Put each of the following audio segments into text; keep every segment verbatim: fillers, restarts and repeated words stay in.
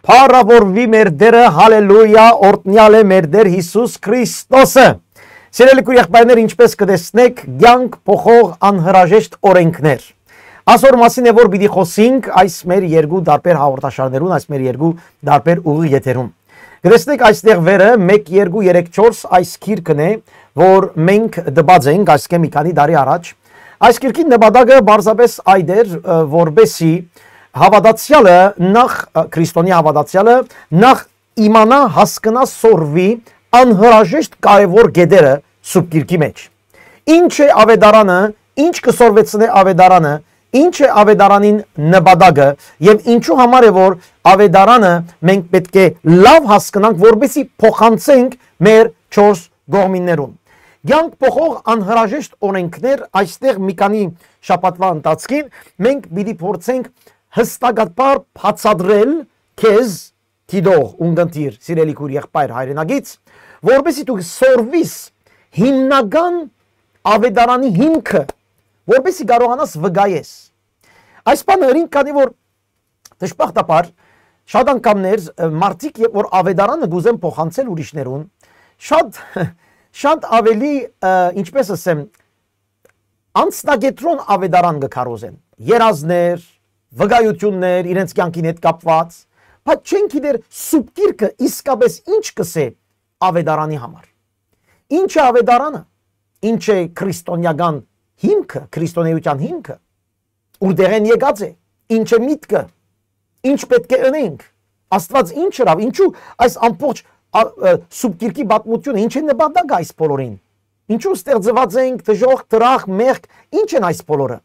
Փառաւորուի մեր Տէրը, հալելույա, օրհնեալ է մեր Տէր Յիսուս Քրիստոսը։ Սիրելի քույր եղբայրներ, ինչպէս կը տեսնէք, կեանք փոխող անհրաժեշտ օրենքներ։ Ասոր մասին է, որ պիտի խոսենք այս մեր երկու տարբեր հաղորդաշարներուն, այս մեր երկու տարբեր ուղի եթերուն։ Կտեսնեք այստեղ վերը մեկ, երկու, երեք, չորս այս գիրքն է, որ մենք տպած ենք այսքէ մի քանի տարի առաջ։ Այս գիրքին նպատակը պարզապէս այդ էր, ը, որպեսի հաւատացեալը նախ, ը, քրիստոնեայ հաւատացեալը նախ իմանայ, հասկնայ, սորվի անհրաժեշտ կարեւոր կետերը Սուրբ Գիրքի մէջ։ Ինչ է աւետարանը, ինչ կը սորվեցնէ աւետարանը, ինչ է աւետարանին նպատակը եւ ինչու համար է, որ աւետարանը մենք պէտք է լաւ հասկնանք, որպեսզի փոխանցենք մեր չորս կողմիններուն։ Կեանք փոխող անհրաժեշտ օրենքներ, այստեղ մի քանի շաբաթուայ ընթացքին մենք պիտի փորձենք հստակաբար բացատրել քեզ, դիտող, ունկնդիր, սիրելի քույր եղբայր հայրենակից, որպեսզի դու սորվիս հիմնական աւետարանի հիմքը, որպեսզի կարողանաս վկայես։ Այս բանը ըրին, քանի որ դժբախտաբար շատ անգամներ, ը, մարդիկ, երբ որ աւետարանը կ'ուզեն փոխանցել ուրիշներուն, շատ, շատ ավելի, ը, ինչպես ասեմ, անձնակեդրոն աւետարան կը քարոզեն։ Երազներ, վկայություններ իրենց կեանքին հետ կապուած, բայց չեն գիտեր Սուրբ Գիրքը իսկապէս ինչ կ'ըսէ աւետարանի համար։ Ինչ է աւետարանը, ինչ է քրիստոնեական հիմքը, քրիստոնեության հիմքը, ուրտեղէն եկած է, ինչ է միտքը, ինչ պէտք է ընենք, Աստուած ինչ ըրաւ, ինչու այս ամբողջ, ա, ը, Սուրբ Գիրքի պատմութիւնը, ինչ է նպատակը այս բոլորին, ինչու ստեղծուած ենք, դժոխք, դրախ, մեղք, ինչ են այս բոլորը,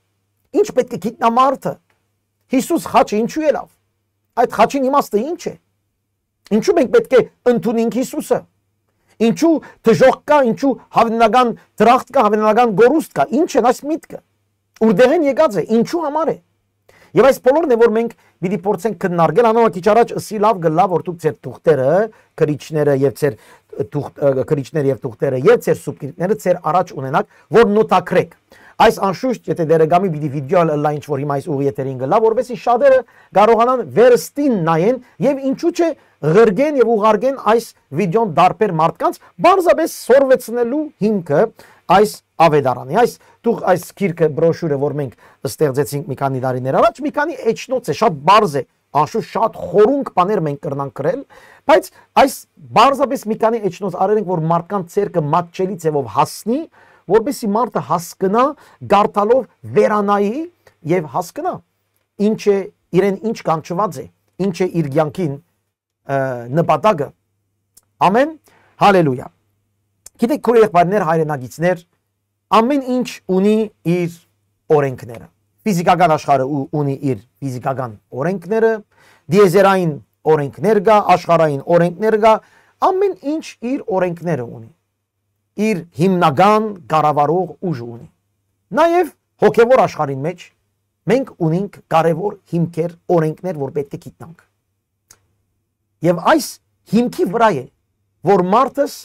ինչ պէտք է գիտնայ մարդը, Յիսուս խաչը ինչու ելաւ, այդ խաչին իմաստը ինչ է, ինչու մենք պէտք է ընդունենք Յիսուսը, ինչու դժոխք կայ, ինչու հավնական դրախտ կայ, հավնական կորուստ կայ, ինչ են այս միտքը, ուրտեղէն եկած է, ինչու համար է։ Եւ այս բոլորն է, որ մենք պիտի փորձենք քննարկել, անոնք քիչ առաջ ըսի լաւ կը լաւ, որ դուք ձեր թուղթերը, գրիչները եւ ձեր թուղթ-, ը, գրիչները եւ թուղթերը եւ ձեր Սուրբ Գիրքները ձեր առաջ ունենաք, որ նոթագրեք։ Այս անշուշտ, եթե Տէրը կամի պիտի վիդեոյ ալ ըլլայ ինչ որ հիմա այս ուղի եթերին կը լաւ, որպեսզի շատերը կարողանան վերստին նայեն եւ ինչու՞ չէ ղրկեն եւ ուղարկեն այս վիդեոն տարբեր մարդկանց, պարզապէս սորվեցնելու հիմքը այս աւետարանի։ Այս դուք այս գիրքը, բրոշուրը, որ մենք ստեղծեցինք մի քանի տարիներ առաջ, մի քանի էջնոց է, շատ պարզ է, անշուշտ շատ խորունկ բաներ մենք կրնանք գրել, բայց այս պարզապէս մի քանի էջնոց արել ենք, որ մարդկանց ձեռքը մատչելի ձեւով հասնի, որպեսզի մարդը հասկնայ, կարդալով վերանայի եւ հասկնայ, ինչ է, իրեն ինչ կանչուած է, ինչ է իր կեանքին, ը, նպատակը։ Ամեն, հալելույա։ Գիտեք, քոյր եղբայրներ, հայրենակիցներ, ամեն ինչ ունի իր օրենքները։ Ֆիզիկական աշխարհը ու-, ունի իր ֆիզիկական օրենքները, դիեզերային օրենքներ կայ, աշխարհային օրենքներ կայ, ամեն ինչ իր օրենքները ունի, իր հիմնական կառավարող ուժ ունի։ Նաեւ հոգեւոր աշխարհին մէջ մենք ունենք կարեւոր հիմքեր, օրենքներ, որ պէտք է գիտնանք։ Եւ այս հիմքի վրայ է, որ մարդս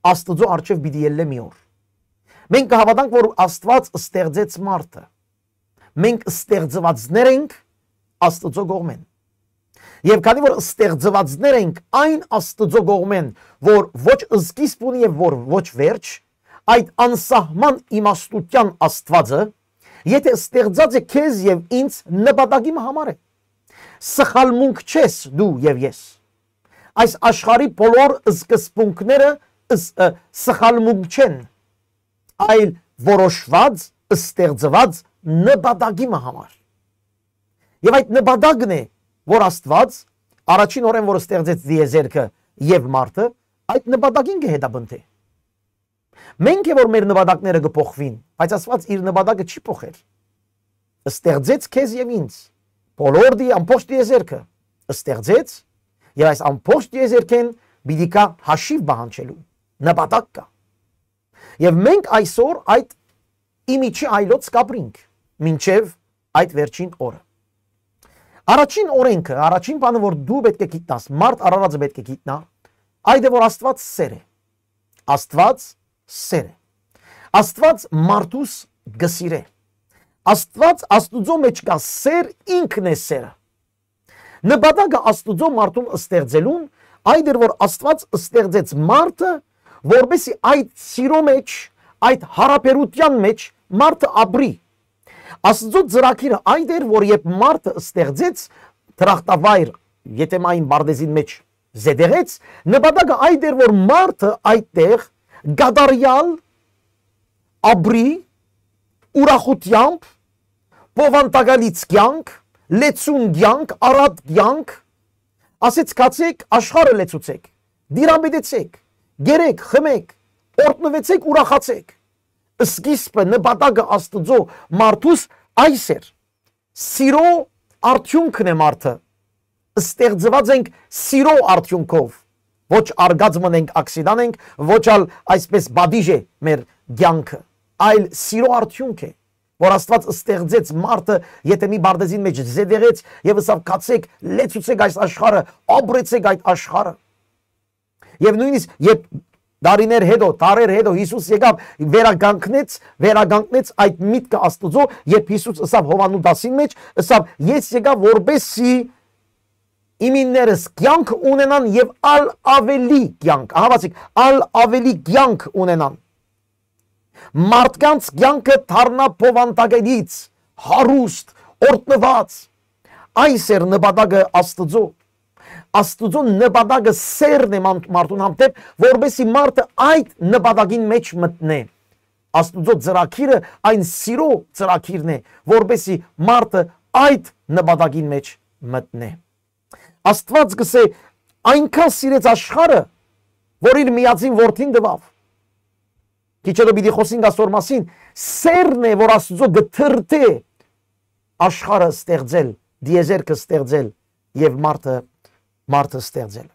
Աստուծոյ առջեւ պիտի ելլէ մի օր։ Մենք կհաւատանք, որ Աստուած ստեղծեց մարդը։ Մենք ստեղծուածներ ենք Աստուծոյ կողմէն։ Եւ քանի որ ստեղծուածներ ենք այն Աստուծոյ կողմէն, որ ոչ սկիզբ ունի եւ որ ոչ վերջ, այդ անսահման իմաստութեան Աստուածը, եթե ստեղծած է քեզ եւ ինձ, նպատակի մը համար է։ Սխալմունք չես դու եւ ես։ Այս աշխարհի բոլոր սկզբունքները ս-, ը, սխալմունք չեն, այլ որոշված, ստեղծված նպատակի մը համար։ Եւ այդ նպատակն է, որ Աստուած առաջին օրէն, որ ստեղծեց դիեզերքը եւ մարդը, այդ նպատակին կը հետապնդէ։ Մենք է, որ մեր նպատակները կը փոխուին, բայց Աստուած իր նպատակը չի փոխեր։ Ստեղծեց քեզ եւ ինձ, բոլոր դի-, ամբողջ դիեզերքը ստեղծեց, եւ այս ամբողջ դիեզերքէն պիտի գայ հաշիւ պահանջելու նպատակ կայ։ Եւ մենք այսօր այդ իմիջի այլոց կապրինք մինչեւ այդ վերջին օրը։ Առաջին օրենքը, առաջին բանը, որ դու պէտք է գիտնաս, մարդ արարածը պէտք է գիտնայ, այդ է, որ Աստուած սէր է։ Աստուած սէր է։ Աստուած մարդուս կը սիրէ։ Աստուած, Աստուծոյ մէջ կայ սէր, ինքն է սէրը։ Նպատակը Աստուծոյ մարդուն ստեղծելուն այդ էր, որ Աստուած ստեղծեց մարդը, որպեսզի այդ սիրո մեջ, այդ յարաբերութեան մեջ մարդը ապրի։ Աստուծոյ ծրագիրը այդ էր, որ երբ մարդը ստեղծեց դրախտավայր, եթէ այն պարտեզին մեջ զետեղեց, նպատակը այդ էր, որ մարդը այդտեղ կատարեալ ապրի ուրախութեամբ, բովանդակալից կեանք, լեցուն կեանք, առատ կեանք, ասեց. «Գացէք, աշխարհը լեցուցէք, դիրապետեցէք, կերէք, խմէք, օրհնուեցէք, ուրախացէք»։ Սկիզբը, նպատակը Աստուծոյ մարդուս այս էր։ Սիրո արդիւնքն է մարդը։ Ստեղծուած ենք սիրո արդիւնքով։ Ոչ արկած մըն ենք, ակսիդան ենք, ոչ ալ այսպես պատիժ է մեր կեանքը, այլ սիրո արդիւնք է, որ Աստուած ստեղծեց մարդը, եթէ մի պարտեզին մեջ զետեղեց եւ ըսաւ. «Գացէք, լեցուցէք այս աշխարհը, ապրեցէք այդ աշխարհը»։ Եւ նոյնիսկ երբ տարիներ հետո, դարեր հետո Յիսուս եկաւ, վերականգնեց, վերականգնեց այդ միտքը Աստուծոյ, երբ Յիսուս ըսաւ Յովհաննու տասին մեջ, ըսաւ. «Ես եկայ, որպեսզի իմիններս կեանք ունենան եւ ալ աւելի կեանք»։ Ահա ասիկ, ալ աւելի կեանք ունենան։ Մարդկանց կեանքը դառնայ բովանդակալից, հարուստ, օրհնուած։ Այս էր նպատակը Աստուծոյ։ Աստուծոյ նպատակը սերն է ման-, մարդուն հանդէպ, որպեսզի մարդը այդ նպատակին մեջ մտնէ։ Աստուծոյ ծրագիրը այն սիրո ծրագիրն է, որպեսզի մարդը այդ նպատակին մեջ մտնէ։ Աստուած կ'ըսէ. «Այնքան սիրեց աշխարհը, որ իր միածին որդին տուաւ»։ Քիչ հետո պիտի խօսինք ասոր մասին։ Սերն է, որ Աստուծոյ կը դրդէ աշխարհը ստեղծել, տիեզերքը ստեղծել եւ մարդը, մարդը ստեղծել։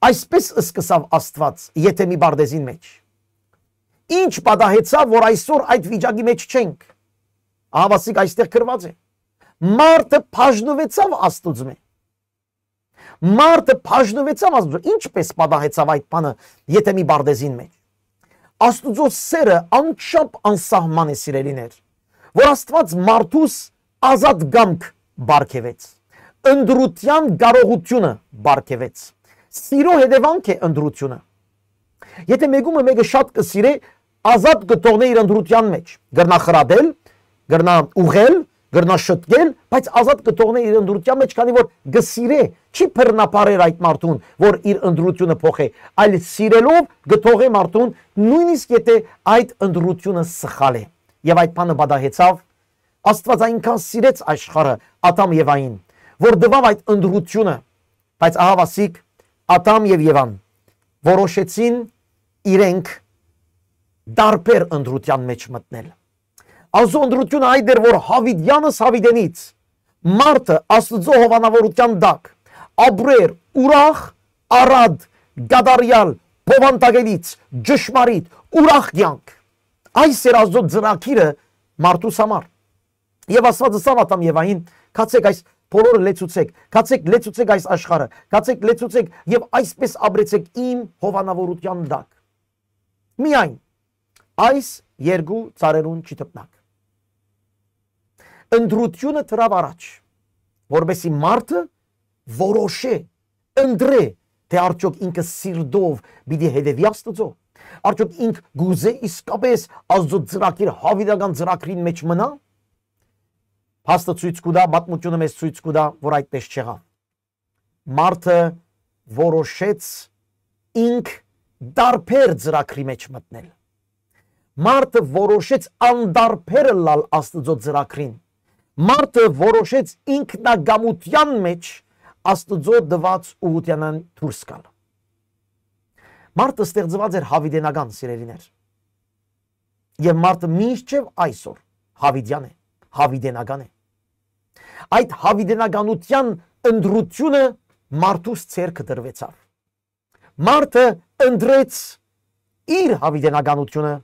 Այսպես սկսաւ Աստուած, եթէ մի պարտեզին մեջ։ Ինչ պատահեցաւ, որ այսօր այդ վիճակի մեջ չենք։ Ահա ասիկ այստեղ գրուած է. «Մարդը բաժնուեցաւ Աստուծմէ»։ Մարդը բաժնուեցաւ Աստուծոյ։ Ինչպես պատահեցաւ այդ բանը, եթէ մի պարտեզին մեջ։ Աստուծոյ սերը անչափ անսահման է, սիրելիներ, որ Աստուած մարդուս ազատ կամք պարգեւեց, ընտրութեան կարողութիւնը պարգեւեց։ Սիրո հետեւանք է ընտրութիւնը։ Եթէ մէկումը մէկը շատ կը սիրէ, ազատ կը թողնէ իր ընտրութեան մեջ։ Կրնայ խրատել, կրնայ ուղղել, կրնայ շտկել, բայց ազատ կը թողնէ իր ընտրութեան մեջ, քանի որ կը սիրէ, չի բռնաբարեր այդ մարդուն, որ իր ընտրութիւնը փոխէ, այլ սիրելով կը թողէ մարդուն, նոյնիսկ եթէ այդ ընտրութիւնը սխալ է։ Եւ այդ բանը պատահեցաւ, Աստուած այնքան սիրեց աշխարհը, Ադամ Եվային, որ տուաւ այդ ընտրութիւնը, բայց ահա ասիկ, Ադամ եւ Եվան որոշեցին իրենք տարբեր ընտրութեան մեջ մտնել։ Անոնց ընտրութիւնը այդ էր, որ Յաւիտեանս Յաւիտենից մարդը Աստուծոյ հովանաւորութեան տակ ապրեր ուրախ, առատ, կատարեալ, բովանդակելից, ճշմարիտ, ուրախ կեանք։ Այս էր Աստուծոյ ծրագիրը մարդուս համար։ Եւ Աստուած ըսաւ Ադամ Եվային. «Գացէք, այս բոլորը լեցուցէք, գացէք, լեցուցէք այս աշխարհը, գացէք, լեցուցէք եւ այսպես ապրեցէք իմ հովանաւորութեան տակ։ Միայն այս երկու ծառերուն չդպնաք»։ Ընտրութիւնը դրաւ առաջ, որպեսզի մարդը որոշէ, ընտրէ, թէ արդյոք ինքը սիրտով պիտի հետեւի Աստուծոյ, արդյոք ինք կ'ուզէ իսկապես Աստուծոյ ծրագիր, Յաւիտական ծրագրին մեջ մնա։ Փաստը ցոյց կու տայ, պատմութիւնը մեզ ցոյց կու տայ, որ այդպես չեղաւ։ Մարդը որոշեց ինք տարբեր ծրագրի մեջ մտնել։ Մարդը որոշեց անտարբեր ըլլալ Աստուծոյ ծրագրին։ Մարդը որոշեց ինքնակամութեան մեջ Աստուծոյ տուած ուղղութեանէն դուրս գալ։ Մարդը ստեղծուած էր յաւիտենական, սիրելիներ։ Եւ մարդը մինչեւ այսօր յաւիտեան է, յաւիտենական է։ Այդ յաւիտենականութեան ընտրութիւնը մարդուս ձեռքը տրուեցաւ։ Մարդը ընտրեց իր յաւիտենականութիւնը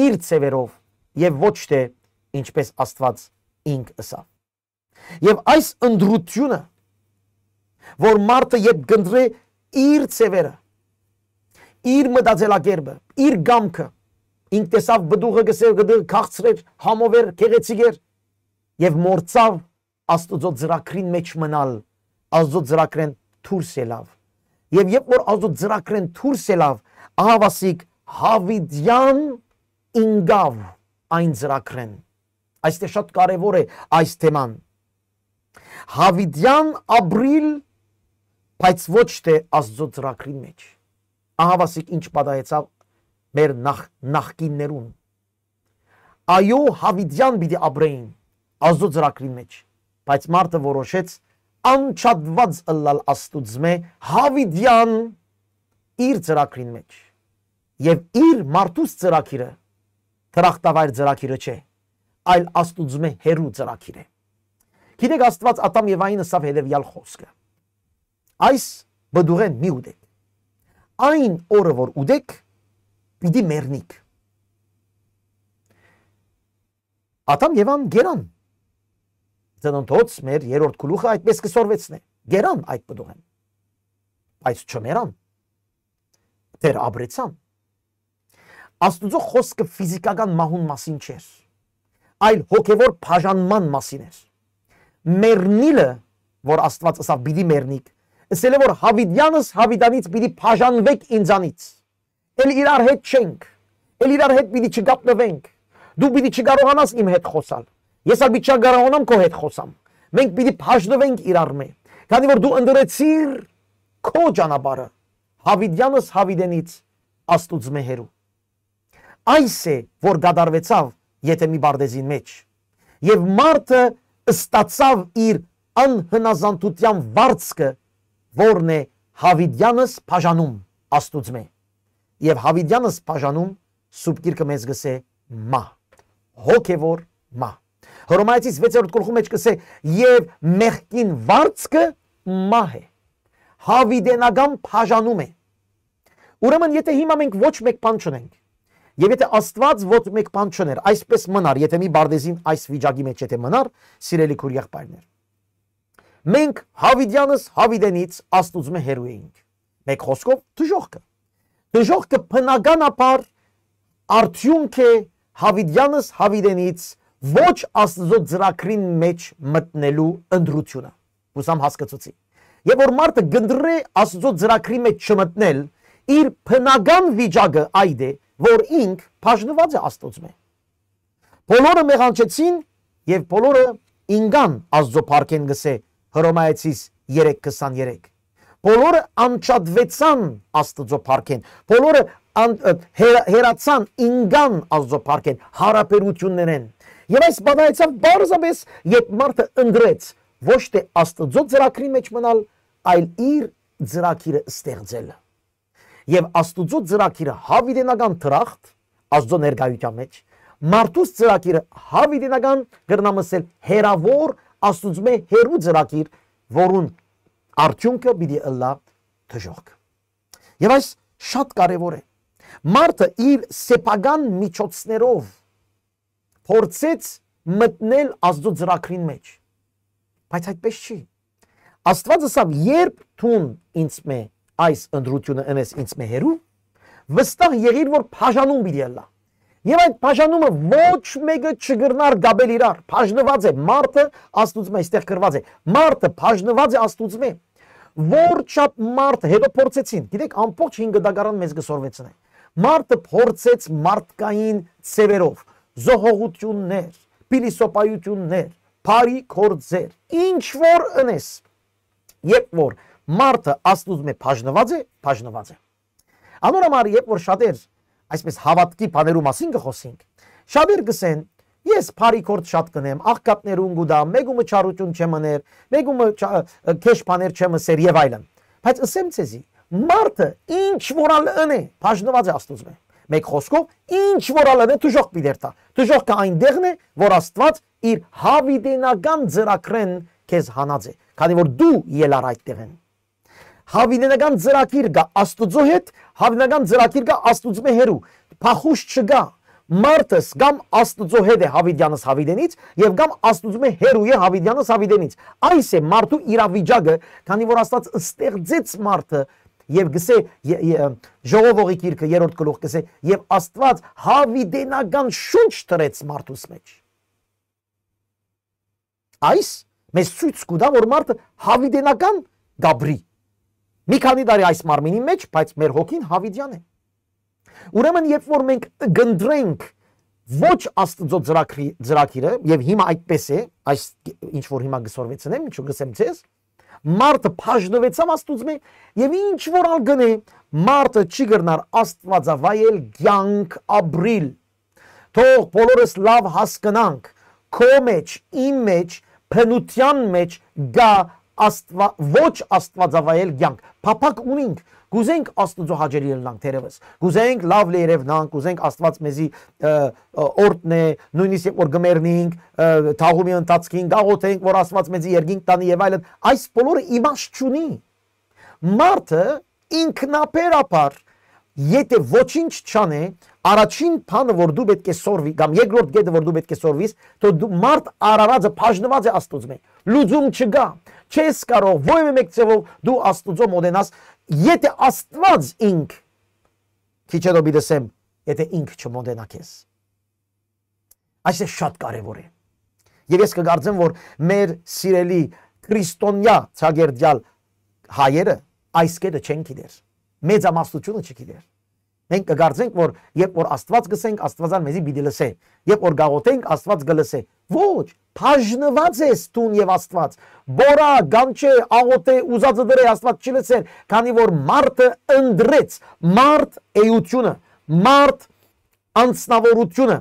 իր ձեւերով եւ ոչ թէ ինչպես Աստուած ինք ըսաւ։ Եւ այս ընտրութիւնը, որ մարդը երբ կընտրէ իր ձեւերը, իր մտածելակերպը, իր կամքը, ինք տեսաւ պտուղը, կ'ըսէ, կտը քաղցր էր, համով էր, գեղեցիկ էր, եւ մոռցաւ Աստուծոյ ծրագրին մէջ մնալ, Աստուծոյ ծրագրէն դուրս ելաւ։ Եւ երբ որ Աստուծոյ ծրագրէն դուրս ելաւ, ահա վասիկ Յաւիտեան ինկաւ այն ծրագրէն։ Այստեղ շատ կարեւոր է այս թեման։ Յաւիտեան ապրիլ, բայց ոչ թէ Աստուծոյ ծրագրին մէջ։ Ահա վասիկ ինչ պատահեցաւ մեր նախ-, նախկիններուն։ Այո, Յաւիտեան պիտի ապրէին Աստուծոյ ծրագրին մէջ, բայց մարդը որոշեց անջատուած ըլլալ Աստուծմէ Յաւիտեան իր ծրագրին մէջ։ Եւ իր մարդուս ծրագիրը դրախտավայր ծրագիրը չէ, այլ Աստուծմէ հեռու ծրագիր է։ Գիտեք, Աստուած Ատամ եւ Ավին ըսաւ հետեւեալ խօսքը. «Այս պտուղէն մի ուտեք։ Այն օրը որ ուտեք, պիտի մեռնիք»։ Ատամ եւ Ավան կերան։ Ծննդոց մեր երրորդ գլուխը այդպես կը սորվեցնէ. կերան այդ պտուղէն, բայց չմեռան, դեռ ապրեցան։ Աստուծոյ խօսքը ֆիզիկական մահուն մասին չէր, այլ հոգեվոր բաժանման մասին էր։ Մեռնիլը, որ Աստուած ըսաւ պիտի մեռնիք, ըսել է որ Յաւիտեանս Յաւիտեանից պիտի բաժանուեք ինձանից։ Էլ իրար հետ չենք, էլ իրար հետ պիտի չկապնուենք։ Դու պիտի չկարողանաս իմ հետ խօսալ, ես ալ պիտի չկարողանամ քո հետ խօսամ։ Մենք պիտի բաժնուենք իրարմէ, քանի որ դու ընտրեցիր քո ճանապարհը, Յաւիտեանս Յաւիտենից, Աստուծմէ հեռու։ Այս է որ կատարուեցաւ Եդեմի պարտէզին մէջ։ Եւ մարդը ստացաւ իր անհնազանդութեան վարձքը, որն է Յաւիտեանս բաժանում Աստուծմէ։ Եւ Յաւիտեանս բաժանում, Սուրբ Գիրքը մեզ կ'ըսէ, մահ, հոգեվոր մահ։ Հռոմայեցիս վեցերորդ գլխու մէջ կ'ըսէ. «Եւ մեղքին վարձքը մահ է»։ Յաւիտենական բաժանում է։ Ուրեմն, եթէ հիմա մենք ոչ մէկ բան չունենք, եւ եթէ Աստուած ոչ մէկ բան չուներ, այսպես մնար, եթէ մի պարտէզին այս վիճակի մէջ եթէ մնար, սիրելի քուր եղբայրներ, մենք Յաւիտեանս Յաւիտենից Աստուծմէ հեռու էինք։ Մեկ խօսքով, դժոխքը։ Դժոխքը բնականաբար արդիւնք է Յաւիտեանս Յաւիտենից ոչ Աստուծոյ ծրագրին մէջ մտնելու ընտրութիւնը։ Ուսամ հասկացուցի։ Եւ որ մարդը կընտրէ Աստուծոյ ծրագրի մէջ չմտնել, իր բնական վիճակը այդ է, որ ինք բաժնուած է Աստուծմէ։ Բոլորը մեղանչեցին եւ բոլորը ինկան Աստուծոյ փառքէն, կ'ըսէ Հռոմայեցիս երեք քսաներեք։ Բոլորը անջատուեցան Աստուծոյ փառքէն, բոլորը ան-, ը, հերա-, հեռացան, ինկան Աստուծոյ փառքէն, յարաբերութիւններէն։ Եւ այս պատահեցաւ պարզապէս, երբ մարդը ընտրեց ոչ թէ Աստուծոյ ծրագրի մէջ մնալ, այլ իր ծրագիրը ստեղծել։ Եւ Աստուծոյ ծրագիրը Յաւիտենական դրախտ, Աստուծոյ ներկայութեան մէջ, մարդուս ծրագիրը Յաւիտենական, կրնամ ըսել, հեռաւոր, Աստուծմէ հեռու ծրագիր, որուն արդիւնքը պիտի ըլլայ դժոխք։ Եւ այս շատ կարեւոր է։ Մարդը իր սեփական միջոցներով փորձեց մտնել Աստուծոյ ծրագրին մէջ, բայց այդպես չի։ Աստուած ըսաւ. «Երբ դուն ինձ մէ այս ընտրութիւնը ընես ինձ մէ հեռու, վստահ եղիր որ բաժանում պիտի ըլլայ»։ Եւ այդ բաժանումը ոչ մէկը չկրնար կապել իրար, բաժնուած է մարդը Աստուծմէ, այստեղ գրուած է, մարդը բաժնուած է Աստուծմէ։ Որ չափ մարդը, հետո փորձեցին, գիտեք, ամբողջ հին գտակարան մեզ կը սորվեցնէ, մարդը փորձեց մարդկային ձեւերով, զոհողութիւններ, փիլիսոփայութիւններ, բարի գործեր, ինչ որ ընես, երբ որ մարդը Աստուծմէ բաժնուած է, բաժնուած է։ Անոր համար, երբ որ շատեր այսպես հաւատքի բաներու մասին կը խօսինք, շատեր կ'ըսեն. «Ես բարի գործ շատ կ'ընեմ, աղքատներուն կու տամ, մէկու մը չարութիւն չեմ ըներ, մէկու մը չա-, քեշ բաներ չեմ ըսեր» եւ այլն։ Բայց ըսեմ ձեզի, մարդը ինչ որ ալ ընէ, բաժնուած է Աստուծմէ։ Մեկ խօսքով, ինչ որ ալ ընէ, դժոխք պիտի երթայ։ Դժոխքը այն տեղն է, որ Աստուած իր յաւիտենական ծրագրէն քեզ հանած է, քանի որ դու ելար այդ տեղէն։ Յաւիտենական ծրագիր կայ Աստուծոյ հետ, յաւիտենական ծրագիր կայ Աստուծմէ հեռու։ Փախուս չկայ։ Մարդս կամ Աստուծոյ հետ է յաւիտեանս յաւիտենից, եւ կամ Աստուծմէ հեռու է յաւիտեանս յաւիտենից։ Այս է մարդու իրավիճակը, քանի որ Աստուած ստեղծեց մարդը եւ գսէ, ե-, ե-, Ժողովողի գիրքը երրորդ գլուխ գսէ, եւ Աստուած յաւիտենական շունչ դրեց մարդուս մէջ։ Այս Մեզ ցոյց կու տայ, որ մարդը յաւիտենական կ'ապրի։ Մի քանի տարի այս մարմինի մէջ, բայց մեր հոգին յաւիտեան է։ Ուրեմն, երբ որ մենք կընտրենք ոչ Աստուծոյ ծրագրի-, ծրագիրը, եւ հիմա այդպես է, այս ինչ որ հիմա կը սորվեցնեմ, ինչ որ կ'ըսեմ ձեզ, մարդը բաժնուեցաւ Աստուծմէ, եւ ինչ որ ալ կ'ընէ, մարդը չի կրնար Աստուածավայել կեանք ապրիլ։ Թող բոլորս լաւ հասկնանք, քո մէջ, իմ մէջ, բնութեան մէջ կայ Աստուա-, ոչ Աստուածավայել կեանք։ Փափաք ունինք, կ'ուզենք Աստուծոյ հաճելի ըլլանք թերեւս, կ'ուզենք լաւ լերեւնանք, կ'ուզենք Աստուած մեզի, ը, ը, օրհնէ, նոյնիսկ երբ որ կը մեռնենք, ը, թաղումի ընթացքին կ'աղօթենք, որ Աստուած մեզի երկինք տանի եւ այլն։ Այս բոլորը իմաստ չունի։ Մարդը ինքնաբերաբար, եթէ ոչինչ չանէ, առաջին բանը որ դու պէտք է սորվի, կամ երկրորդ կետը որ դու պէտք է սորվիս, թէ դու մարդ արարածը բաժնուած է Աստուծմէ։ Լուծում չկայ, չես կարող որեւէ մէկ ձեւով դու Աստուծոյ մոտենաս, եթէ Աստուած ինք, քիչ հետո պիտի ասեմ, եթէ ինք չմոտենայ քեզ։ Այս է շատ կարեւոր է։ Եւ ես կկարծեմ, որ մեր սիրելի քրիստոնեայ ցակերտեալ հայերը այս կետը չեն գիտեր։ Մեծամասնությունը չգիտեր։ Մենք կկարծենք, որ երբ որ Աստուած կ'ըսենք, Աստուածան մեզի պիտի լսէ։ Երբ որ կ'աղօթենք, Աստուած կը լսէ։ Ոչ, բաժնուած ես դուն եւ Աստուած։ Բորա, գանչէ, աղօթէ, ուզածդ ըրէ, Աստուած չի լսեր, քանի որ մարդը ընտրեց, մարդ էությունը, մարդ անձնաւորությունը,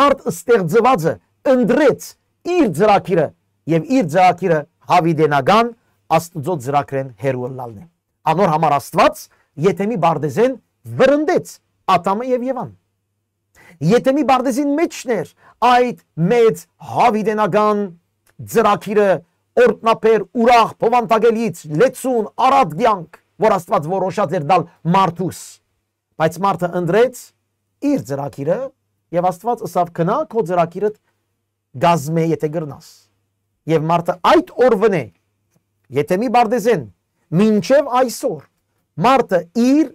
մարդ ստեղծուածը ընտրեց իր ծրագիրը, եւ իր ծրագիրը յաւիտենական Աստուծոյ ծրագրէն հեռու ըլլալն է։ Անոր համար Աստուած Եթեմի պարտեզէն վրընդեց Ադամը եւ Եվան։ Եթեմի պարտեզին մէջն էր այդ մեծ յաւիտենական ծրագիրը, օրհնաբեր, ուրախ, բովանդակելից, լեցուն, առատ կեանք, որ Աստուած որոշած էր տալ մարդուս։ Բայց մարդը ընտրեց իր ծրագիրը, եւ Աստուած ըսաւ. «Գնա, քո ծրագիրդ կազմէ, եթէ կրնաս»։ Եւ մարդը այդ օրուընէ, Եթեմի պարտեզէն մինչեւ այսօր, մարդը իր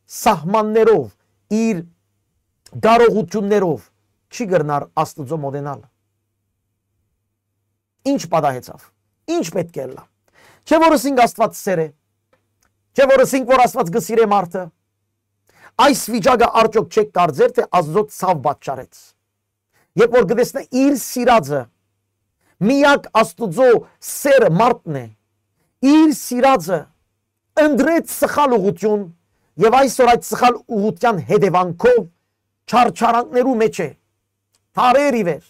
սահմաններով, իր կարողութիւններով չի կրնար Աստուծոյ մոտենալ։ Ինչ պատահեցաւ, ինչ պէտք է ըլլայ։ Չէ՞ որ ըսինք Աստուած սեր է, չէ՞ որ ըսինք, որ Աստուած կը սիրէ մարդը։ Այս վիճակը արդյոք չէք կարծեր, թէ Աստուծոյ ցաւ պատճառեց, երբ որ կը տեսնէ իր սիրածը, միակ Աստուծոյ սերը մարդն է, իր սիրածը ընտրեց սխալ ուղղութիւն, եւ այսօր այդ սխալ ուղղութեան հետեւանքով չարչարանքներու մէջ է, դարեր ի վեր։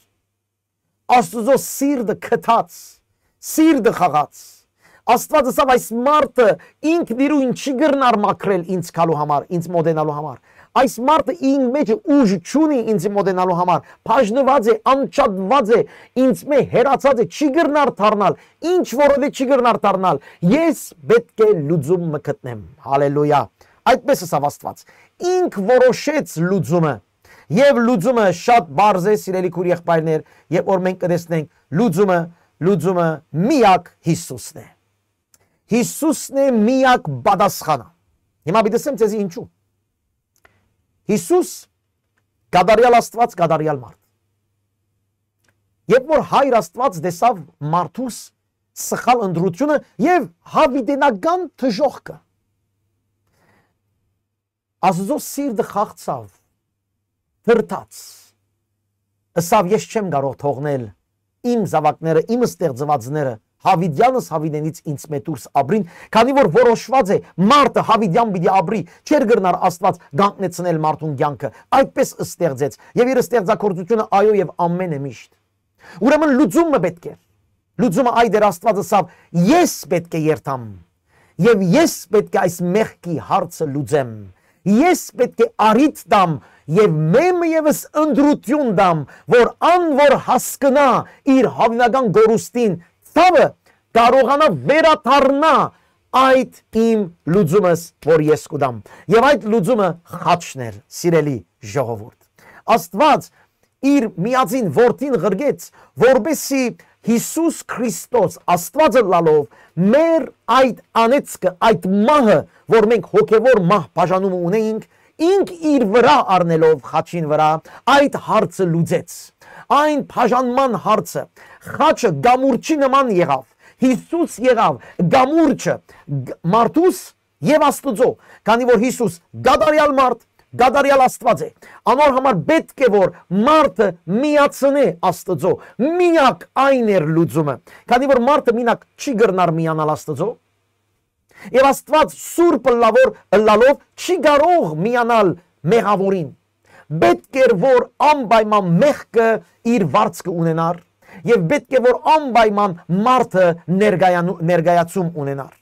Աստուծոյ սիրտը քթած, սիրտը խաղաց։ Աստուած ըսաւ. «Այս մարդը ինքն իրուն չի կրնար մաքրել ինձ գալու համար, ինձ մոտենալու համար։ Այս մարդը ինք մէջը ուժ չունի ինձ մոտենալու համար, բաժնուած է, անջատուած է, ինձ մէ հեռացած է, չի կրնար դառնալ, ինչ որ է չի կրնար դառնալ։ Ես պէտք է լուծում մը գտնեմ»։ Հալելույա։ Այդպես ըսաւ Աստուած։ Ինք որոշեց լուծումը։ Եւ լուծումը շատ պարզ է, սիրելի քուր եղբայրներ, երբ որ մենք կտեսնենք լուծումը, լուծումը միակ Յիսուսն է։ Յիսուսն է միակ պատասխանը։ Հիմա պիտի ասեմ ձեզի ինչու։ Յիսուս, կատարյալ Աստուած, կատարյալ մարդ։ Երբ որ Հայր Աստուած տեսաւ մարդուս սխալ ընտրությունը եւ յաւիտենական դժոխքը, Աստուծոյ սիրտը խաղցաւ, դրդաց, ըսաւ. «Ես չեմ կարող թողնել իմ զաւակները, իմ ստեղծուածները, յաւիտեանս յաւիտենից ինձ մէ դուրս ապրին, քանի որ որոշուած է, մարդը յաւիտեան պիտի ապրի, չէր կրնար Աստուած կանգնեցնել մարդուն կեանքը, այդպես ստեղծեց, եւ իր ստեղծագործությունը, այո, եւ ամեն է միշտ»։ Ուրեմն լուծումը պէտք էր։ Լուծումը այդ էր, Աստուած ըսաւ. «Ես պէտք է երթամ, եւ ես պէտք է այս մեղքի հարցը լուծեմ։ Ես պէտք է առիթ տամ եւ մէմը եւս ընտրութիւն տամ, որ ան որ հասկնայ իր յաւիտենական կորուստին ցաւը, կարողանայ վերադառնայ այդ իմ լուծումս, որ ես կու տամ»։ Եւ այդ լուծումը խաչն էր, սիրելի ժողովուրդ։ Աստուած իր միածին որդին ղրկեց, որպեսզի Յիսուս Քրիստոս, Աստուած ըլլալով, մեր այդ անեծքը, այդ մահը, որ մենք հոգեվոր մահ բաժանումը ունեինք, ինք իր վրայ առնելով խաչին վրայ, այդ հարցը լուծեց։ այն բաժանման հարցը, խաչը կամուրջի նման եղաւ։ Յիսուս եղաւ կամուրջը, կ-, մարդուս եւ Աստուծոյ, քանի որ Յիսուս կատարեալ մարդ, կատարեալ Աստուած է։ Անոր համար պէտք է որ մարդը միացնէ Աստուծոյ, միակ այն էր լուծումը, քանի որ մարդը մինակ չի կրնար միանալ Աստուծոյ, եւ Աստուած սուրբ ըլլա որ, ըլլալով չի կարող միանալ մեղաւորին։ Պէտք էր որ անպայման մեղքը իր վարձքը ունենար, եւ պէտք է որ անպայման մարդը ներկայանու-, ներկայացում ունենար։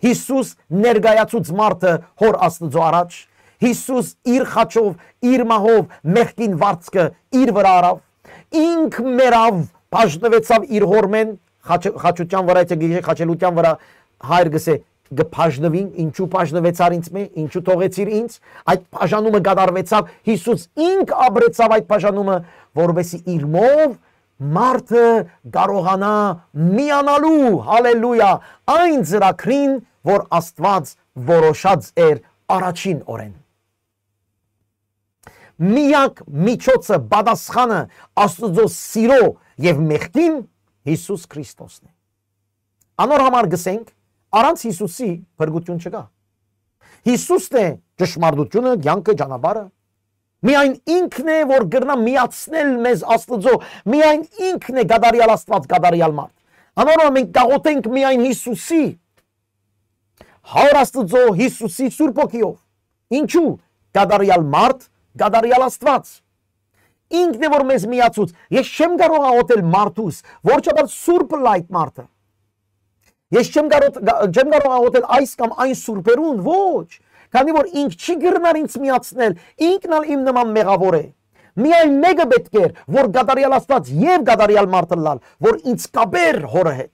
Յիսուս ներկայացուց մարդը Հօր Աստուծոյ առաջ։ Յիսուս իր խաչով, իր մահով մեղքին վարձքը իր վրայ առաւ։ Ինք մեռաւ, բաժնուեցաւ իր Հօրմէն, խաչ-, խաչութեան վրայ, թէ գիշեր խաչելութեան վրայ, Հայր գսէ, կը բաժնուին, ինչու բաժնուեցար ինձ մէ, ինչու թողեցիր ինձ, այդ բաժանումը կատարուեցաւ, Յիսուս ինք ապրեցաւ այդ բաժանումը, որովհետեւ իրմով մարդը կարողանայ միանալու, հալելույա, այն ծրագրին, որ Աստուած որոշած էր առաջին օրէն։ Միակ միջոցը, պատասխանը Աստուծոյ սիրոյ եւ մեղքին Յիսուս Քրիստոսն է։ Անոր համար գսենք, առանց Յիսուսի փրկութիւն չկայ։ Յիսուսն է ճշմարտութիւնը, կեանքը, ճանապարհը։ Միայն ինքն է, որ կրնայ միացնել մեզ Աստուծոյ, միայն ինքն է կատարեալ Աստուած, կատարեալ մարդ։ Անոր համար մենք կաղոթենք միայն Յիսուսի, Հօր Աստուծոյ, Յիսուսի Սուրբ Հոգիով։ Ինչու՞, կատարեալ մարդ, կատարեալ Աստուած։ Ինքն է, որ մեզ միացուց։ Ես չեմ կարող աղոթել մարդուս, որչափ ալ սուրբ ըլլայ այդ մարդը։ Ես չեմ կարող, չեմ կարող աղոթել այս կամ այն սուրբերուն, ոչ, քանի որ ինք չի կրնար ինձ միացնել, ինքն ալ իմ նման մեղաւոր է։ Միայն մէկը պէտք էր, որ կատարեալ Աստուած եւ կատարեալ մարդ ըլլալ, որ ինձ կապեր Հօրը հետ։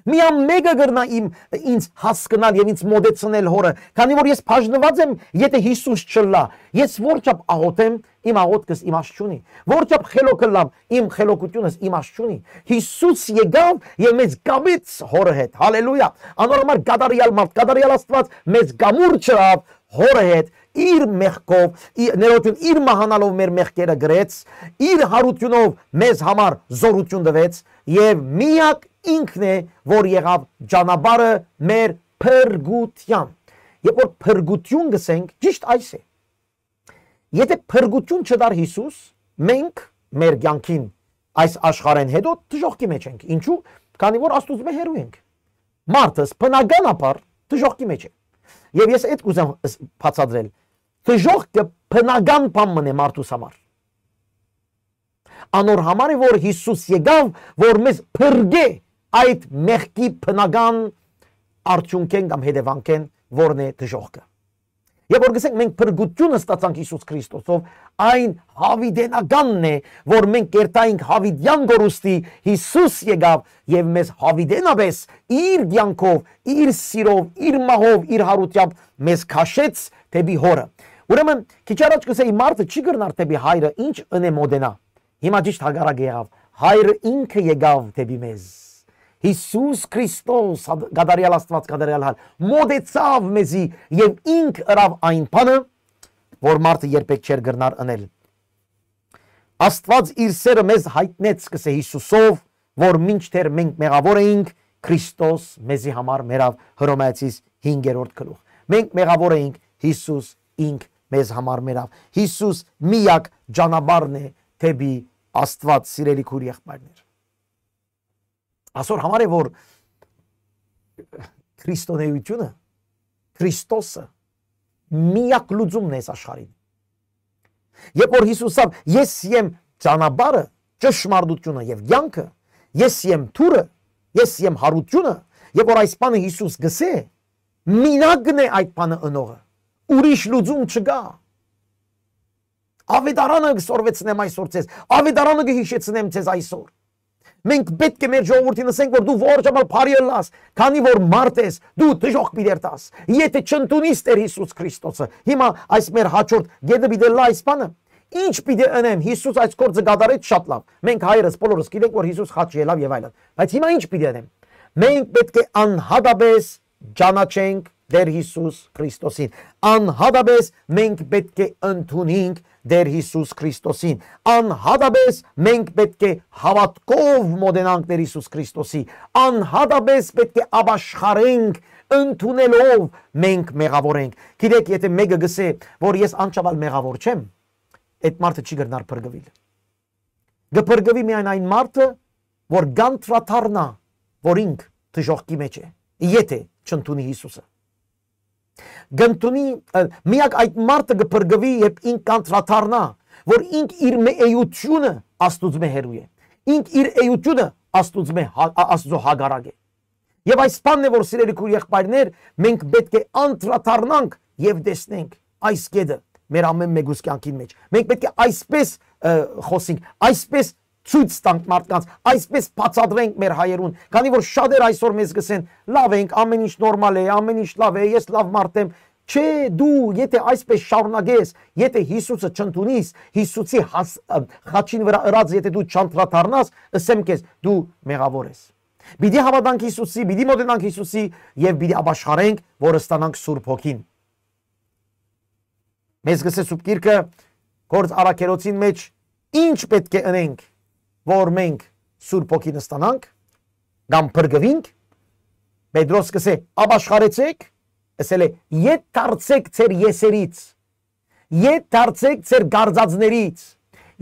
Միայն մէկը կրնայ իմ, ինձ հասկնալ եւ ինձ մոտեցնել Հօրը, քանի որ ես բաժնուած եմ, եթէ Յիսուս չըլլայ։ Ես որչափ աղոթեմ, իմ աղոթքս իմաստ չունի։ Որչափ խելոք ըլլամ, իմ խելոքութիւնս իմաստ չունի։ Յիսուս եկաւ եւ մեզ կապեց Հօրը հետ։ Հալելույա։ Անոր համար կատարեալ մարդ, կատարեալ Աստուած մեզ կամուր չըրաւ Հօրը հետ, իր մեղքով, ի-, ներողություն, իր մահանալով մեր մեղքերը կրեց, իր հարութիւնով մեզ համար զօրութիւն տուեց եւ միակ ինքն է, որ եղաւ ճանապարհը մեր փրկութեան։ Երբ որ փրկութիւն գսենք, ճիշտ այս է։ Եթէ փրկութիւն չտար Յիսուս, մենք մեր կեանքին այս աշխարհէն հետո դժոխքի մեջ ենք։ Ինչու՞, քանի որ Աստուծմէ հեռու ենք։ Մարդս բնականաբար դժոխքի մեջ է։ Եւ ես այդ կուզեմ ս-, բացատրել։ Դժոխքը բնական բան մըն է մարդուս համար։ Անոր համար է, որ Յիսուս եկաւ, որ մեզ փրկէ այդ մեղքի բնական արդիւնքէն կամ հետեւանքէն, որն է դժոխքը։ Երբ որ գսենք, մենք փրկութիւնը ստացանք Յիսուս Քրիստոսով, այն յաւիտենականն է, որ մենք կերտայինք յաւիտեան կորուստի, Յիսուս եկաւ եւ մեզ յաւիտենապէս իր կեանքով, իր սիրով, իր մահով, իր հարութեամբ մեզ քաշեց դէպի Հօրը։ Ուրեմն, քիչ առաջ կսէի, մարդը չի կրնար դէպի Հայրը ինչ ընէ մօտենայ։ Հիմա ճիշտ հակառակը եղաւ։ Հայրը ինքը եկաւ դէպի մեզ։ Յիսուս Քրիստոս, հա-, կատարեալ Աստուած, կատարեալ Հայր, մոտեցաւ մեզի եւ ինք ըրաւ այն բանը, որ մարդը երբեք չէր կրնար ընել։ Աստուած իր սերը մեզ յայտնեց, կսէ, Յիսուսով, որ մինչդեռ մենք մեղաւոր էինք, Քրիստոս մեզի համար մեռաւ, Հռոմեացիս հինգերորդ գլուխ։ Մենք մեղաւոր էինք, Յիսուս ինք մեզ համար մեռաւ։ Յիսուս միակ ճանապարհն է դէպի Աստուած, սիրելի քույր եղբայրներ։ Ասոր համար է, որ քրիստոնեությունը, Քրիստոսը միակ լուծումն է այս աշխարհին։ Երբ որ Յիսուս ասաւ, «Ես եմ ճանապարհը, ճշմարտությունը եւ կեանքը, ես եմ դուռը, ես եմ հարությունը», երբ որ այս բանը Յիսուս գսէ, մինակն է այդ բանը ընողը, ուրիշ լուծում չկայ։ Ավետարանը կսորվեցնեմ այսօր ձեզ, ավետարանը կհիշեցնեմ ձեզ այսօր։ Մենք պէտք է մեր ժողովուրդին ասենք, որ դու որչափ ալ բարի ըլլաս, քանի որ մարդ ես, դու դժոխք պիտի երթաս, եթէ չընդունիս Տեր Յիսուս Քրիստոսը։ Հիմա այս մեր հաջորդ գետը պիտի ըլլայ այս բանը։ Ի՞նչ պիտի ընեմ, Յիսուս այս գործը կատարեց շատ լավ։ Մենք հայերս բոլորս գիտենք, որ Յիսուս խաչ ելաւ եւ այլն։ Բայց հիմա ի՞նչ պիտի ընեմ։ Մենք պէտք է անհատապես ճանաչենք Տեր Յիսուս Քրիստոսին։ Անհատապես մենք պէտք է ընդունենք Տէր Յիսուս Քրիստոսին։ Անհատապէս մենք պէտք է հաւատքով մօտենանք Տէր Յիսուս Քրիստոսի։ Անհատապէս պէտք է ապաշխարենք ընդունելով մենք մեղաւոր ենք։ Գիտէք, եթէ մէկը գսէ, որ ես անչափ ալ մեղաւոր չեմ, այդ մարդը չի կրնար փրկուիլ։ Կը փրկուի միայն այն մարդը, որ կանդրադառնայ, որ ինք դժոխքի մէջ է, եթէ չընդունի Յիսուսը։ Կընդունի, ը, միակ այդ մարդը կը փրկուի, երբ ինք կանդրադառնայ, որ ինք իր մէ էությունը Աստուծմէ հեռու է, ինք իր էությունը Աստուծմէ հա-, Ա-, Աստուծոյ հակառակ է։ Եւ այս բանն է, որ, սիրելի քոյր եղբայրներ, մենք պէտք է անդրադառնանք եւ տեսնենք այս կետը մեր ամէն մեկուս կեանքին մէջ։ Մենք պէտք է այսպես, ը, խօսենք, այսպես ցոյց տանք մարդկանց, այսպես բացատրենք մեր հայերուն, քանի որ շատեր այսօր մեզ կ'ըսեն. «Լաւ ենք, ամէն ինչ նորմալ է, ամէն ինչ լաւ է, ես լաւ մարդ եմ»։ Չէ, դու եթէ այսպես շարունակես, եթէ Յիսուսը չընդունիս, Յիսուսի հաս-, ը, խաչին վրայ ըրած եթէ դու չանդրադառնաս, ըսեմ քեզ, դու մեղաւոր ես։ Պիտի հաւատանք Յիսուսի, պիտի մօտենանք Յիսուսի եւ պիտի ապաշխարենք, որ ստանանք Սուրբ Հոգին։ Մեզ կ'ըսէ Սուրբ Գիրքը, Գործ առաքելոցին մէջ, ինչ պէտք է ընենք, որ մենք Սուրբ Հոգին ստանանք, կամ փրկուինք, Պետրոս կ'ըսէ. «Ապաշխարեցէք», ըսել է, «ետ դարձէք ձեր եսերից, ետ դարձէք ձեր կարծածներից,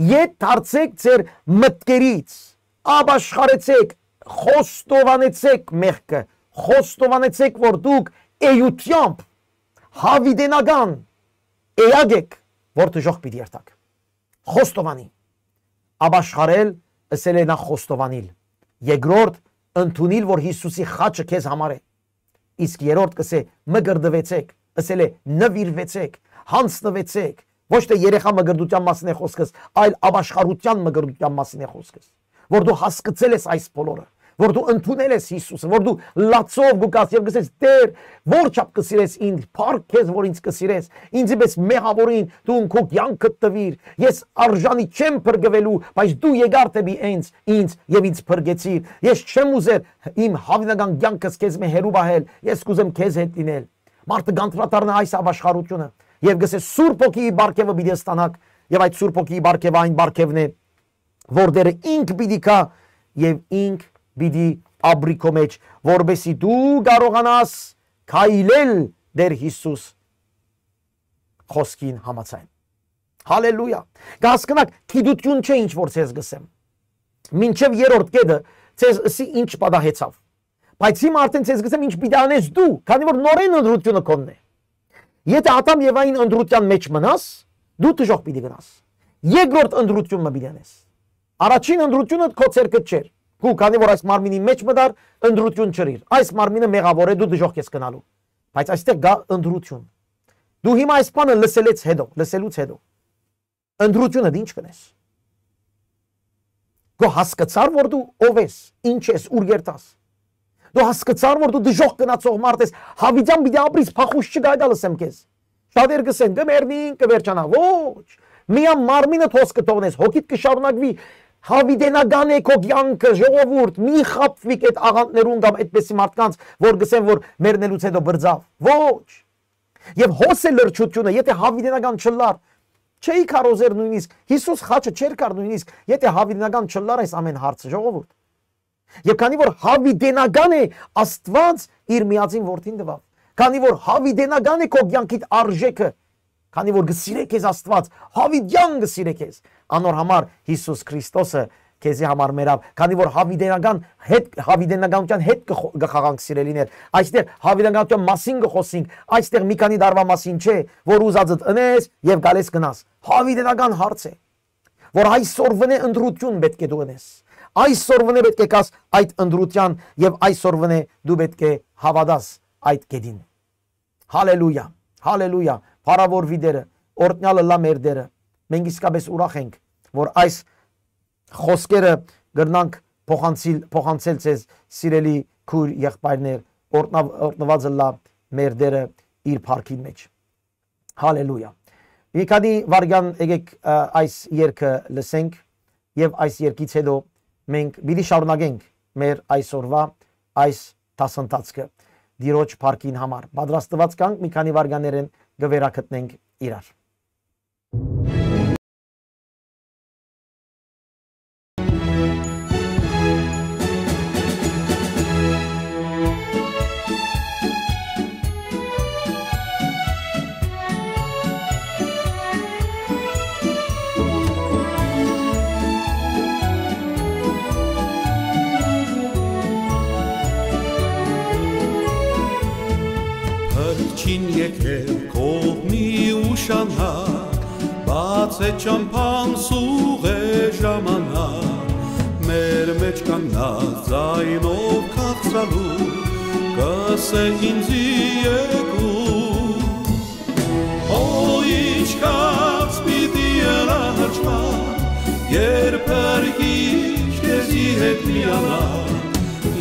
ետ դարձէք ձեր մտքերից, ապաշխարեցէք, խոստովանեցէք մեղքը, խոստովանեցէք, որ դուք էությամբ հավիտենական էակ եք, որ դժոխք պիտի երթաք»։ Խոստովանի։ Ապաշխարել, ըսել է, նախ խոստովանիլ։ Երկրորդ, ընդունիլ, որ Յիսուսի խաչը քեզ համար է։ Իսկ երրորդ կ'ըսէ. «Մկրտուեցէք», ըսել է, «նուիրուեցէք, յանձնուեցէք»։ Ոչ թէ երեխայ մկրտութեան մասին է խօսքս, այլ ապաշխարութեան մկրտութեան մասին է խօսքս, որ դու հասկցել ես այս բոլորը, որ դու ընդունել ես Յիսուսը, որ դու լացով կու գաս եւ կ'ըսես. «Տէր, որչափ կը սիրես ինձ, փառք քեզ, որ ինձ կը սիրես, ինձի պէս մեղաւորին դուն քո կեանքդ տուիր, ես արժանի չեմ փրկուելու, բայց դու եկար դէպի ինձ, ինձ եւ ինձ փրկեցիր, ես չեմ ուզեր իմ հավիտենական կեանքս քեզմէ հեռու պահել, ես կ'ուզեմ քեզ հետ լինել»։ Մարդը կանդրադառնայ այս ապաշխարութիւնը եւ կ'ըսէ. «Սուրբ Հոգիի պարգեւը պիտի ստանաք», եւ այդ Սուրբ Հոգիի պարգեւը այն պարգեւն է, որ Տէրը ինք պիտի գայ եւ ինք պիտի ապրի քո մէջ, որպեսզի դու կարողանաս քայլել Տէր Յիսուս խօսքին համաձայն։ Հալելույա։ Կ'հասկնաք, գիտութիւն չէ ինչ որ ձեզ կ'ըսեմ։ Մինչեւ երրորդ կետը ձեզ ըսի ինչ պատահեցաւ։ Բայց հիմա արդեն ձեզ կ'ըսեմ ինչ պիտի անես դու, քանի որ նորէն ընտրութիւնը քոնն է։ Եթէ Ադամ Եվային ընտրութեան մէջ մնաս, դու դժոխք պիտի գնաս։ Երկրորդ ընտրութիւն մը պիտի անես։ Առաջին ընտրութիւնը քո ձեռքդ չէր։ Քու, քանի որ այս մարմինի մէջ մտար, ընտրութիւն չըրիր։ Այս մարմինը մեղաւոր է, դու դժոխք ես գնալու։ Բայց այստեղ կայ ընտրութիւն։ Դու հիմա այս բանը լսելէց հետո, լսելուց հետո, ընտրութիւնդ ինչ կ'ընես։ Քու հասկցար, որ դու ով ես, ինչ ես, ուր կ'երթաս։ Դու հասկցար, որ դու դժոխք գնացող մարդ ես, հավիտեան պիտի ապրիս, փախուստ չկայ, դա լսեմ քեզ։ Շատեր կ'ըսեն. «Կը մեռնին, կը վերջանայ»։ Ոչ։ Միան մարմինդ հոս կը թողնես, հոգիդ կը շարունակուի, հավիտենական է քո կեանքը, ժողովուրդ, մի խաբվիք այդ աղանդներուն կամ այդպիսի մարդկանց, որ կ'ըսեն, որ մեռնելուց հետո բրձաւ։ Ոչ։ Եւ հոս է լրջութիւնը, եթէ հավիտենական չըլլար, չէի կարոզեր նույնիսկ, Յիսուս խաչը չէր կար նույնիսկ, եթէ հավիտենական չըլլար այս ամէն հարցը, ժողովուրդ։ Եւ քանի որ հավիտենական է, Աստուած իր միածին որդին տուաւ, քանի որ հավիտենական է քո կեանքիդ արժեքը, քանի որ կը սիրէ քեզ Աստուած, հավիտեան կը սիրէ քեզ, անոր համար Յիսուս Քրիստոսը քեզի համար մեռաւ, քանի որ հավիտենական հետ, հավիտենականության հետ կը խո-, կը խաղանք, սիրելիներ։ Այստեղ հավիտենականության մասին կը խօսենք, այստեղ մի քանի տարվա մասին չէ, որ ուզածդ ընես եւ գալես գնաս։ Հավիտենական հարց է, որ այսօրվնէ ընտրութիւն պէտք է դու ընես։ Այսօրվնէ պէտք է գաս այդ ընտրութեան եւ այսօրվնէ դու պէտք է հաւատաս այդ կետին։ Հալելույա, հալելույա, փառաւորուի Տէրը, օրհնեալ ըլլայ մեր Տէրը։ Մենք իսկապես ուրախ ենք, որ այս խօսքերը կրնանք փոխանցիլ-, փոխանցել ձեզ, սիրելի քույր եղբայրներ, օրհնավ-, օրհնուած ըլլայ մեր Տէրը իր փառքին մէջ։ Հալելույա։ Մի քանի վայրկյան եկեք, ա, այս երգը լսենք եւ այս երգից հետո մենք պիտի շարունակենք մեր այսօրվա այս դասընթացքը Տիրոջ փառքին համար։ Պատրաստուած կանք, մի քանի վայրկյաններէն կը վերագտնենք իրար։ Ին եկել կողմի ուշանակ, բաց է ճամբան, սուղ է ժամանակ, մեր մէջ կանգնած ձայնով քաղցրալու, կ'ըսէ ինծի եկու։ Օ, ինչքան պիտի ըլլայ հաճախ, երբ Փրկիչ քեզի հետ միանայ,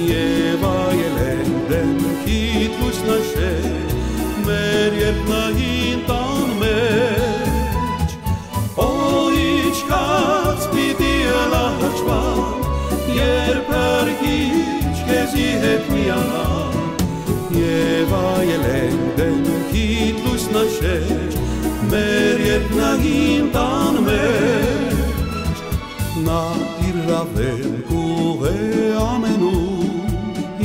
եւ այլեն դէմքիդ լուսնաշէ, մեր երկնային տան մէջ։ Օ, ինչքան պիտի ըլլայ հաճախ, երբ Փրկիչ քեզի հետ միանայ, եւ այլեն դէմքիդ լուսնաշէ, մեր երկնային տան մէջ։ Նա իր ռաւեն կուղ է ամենում,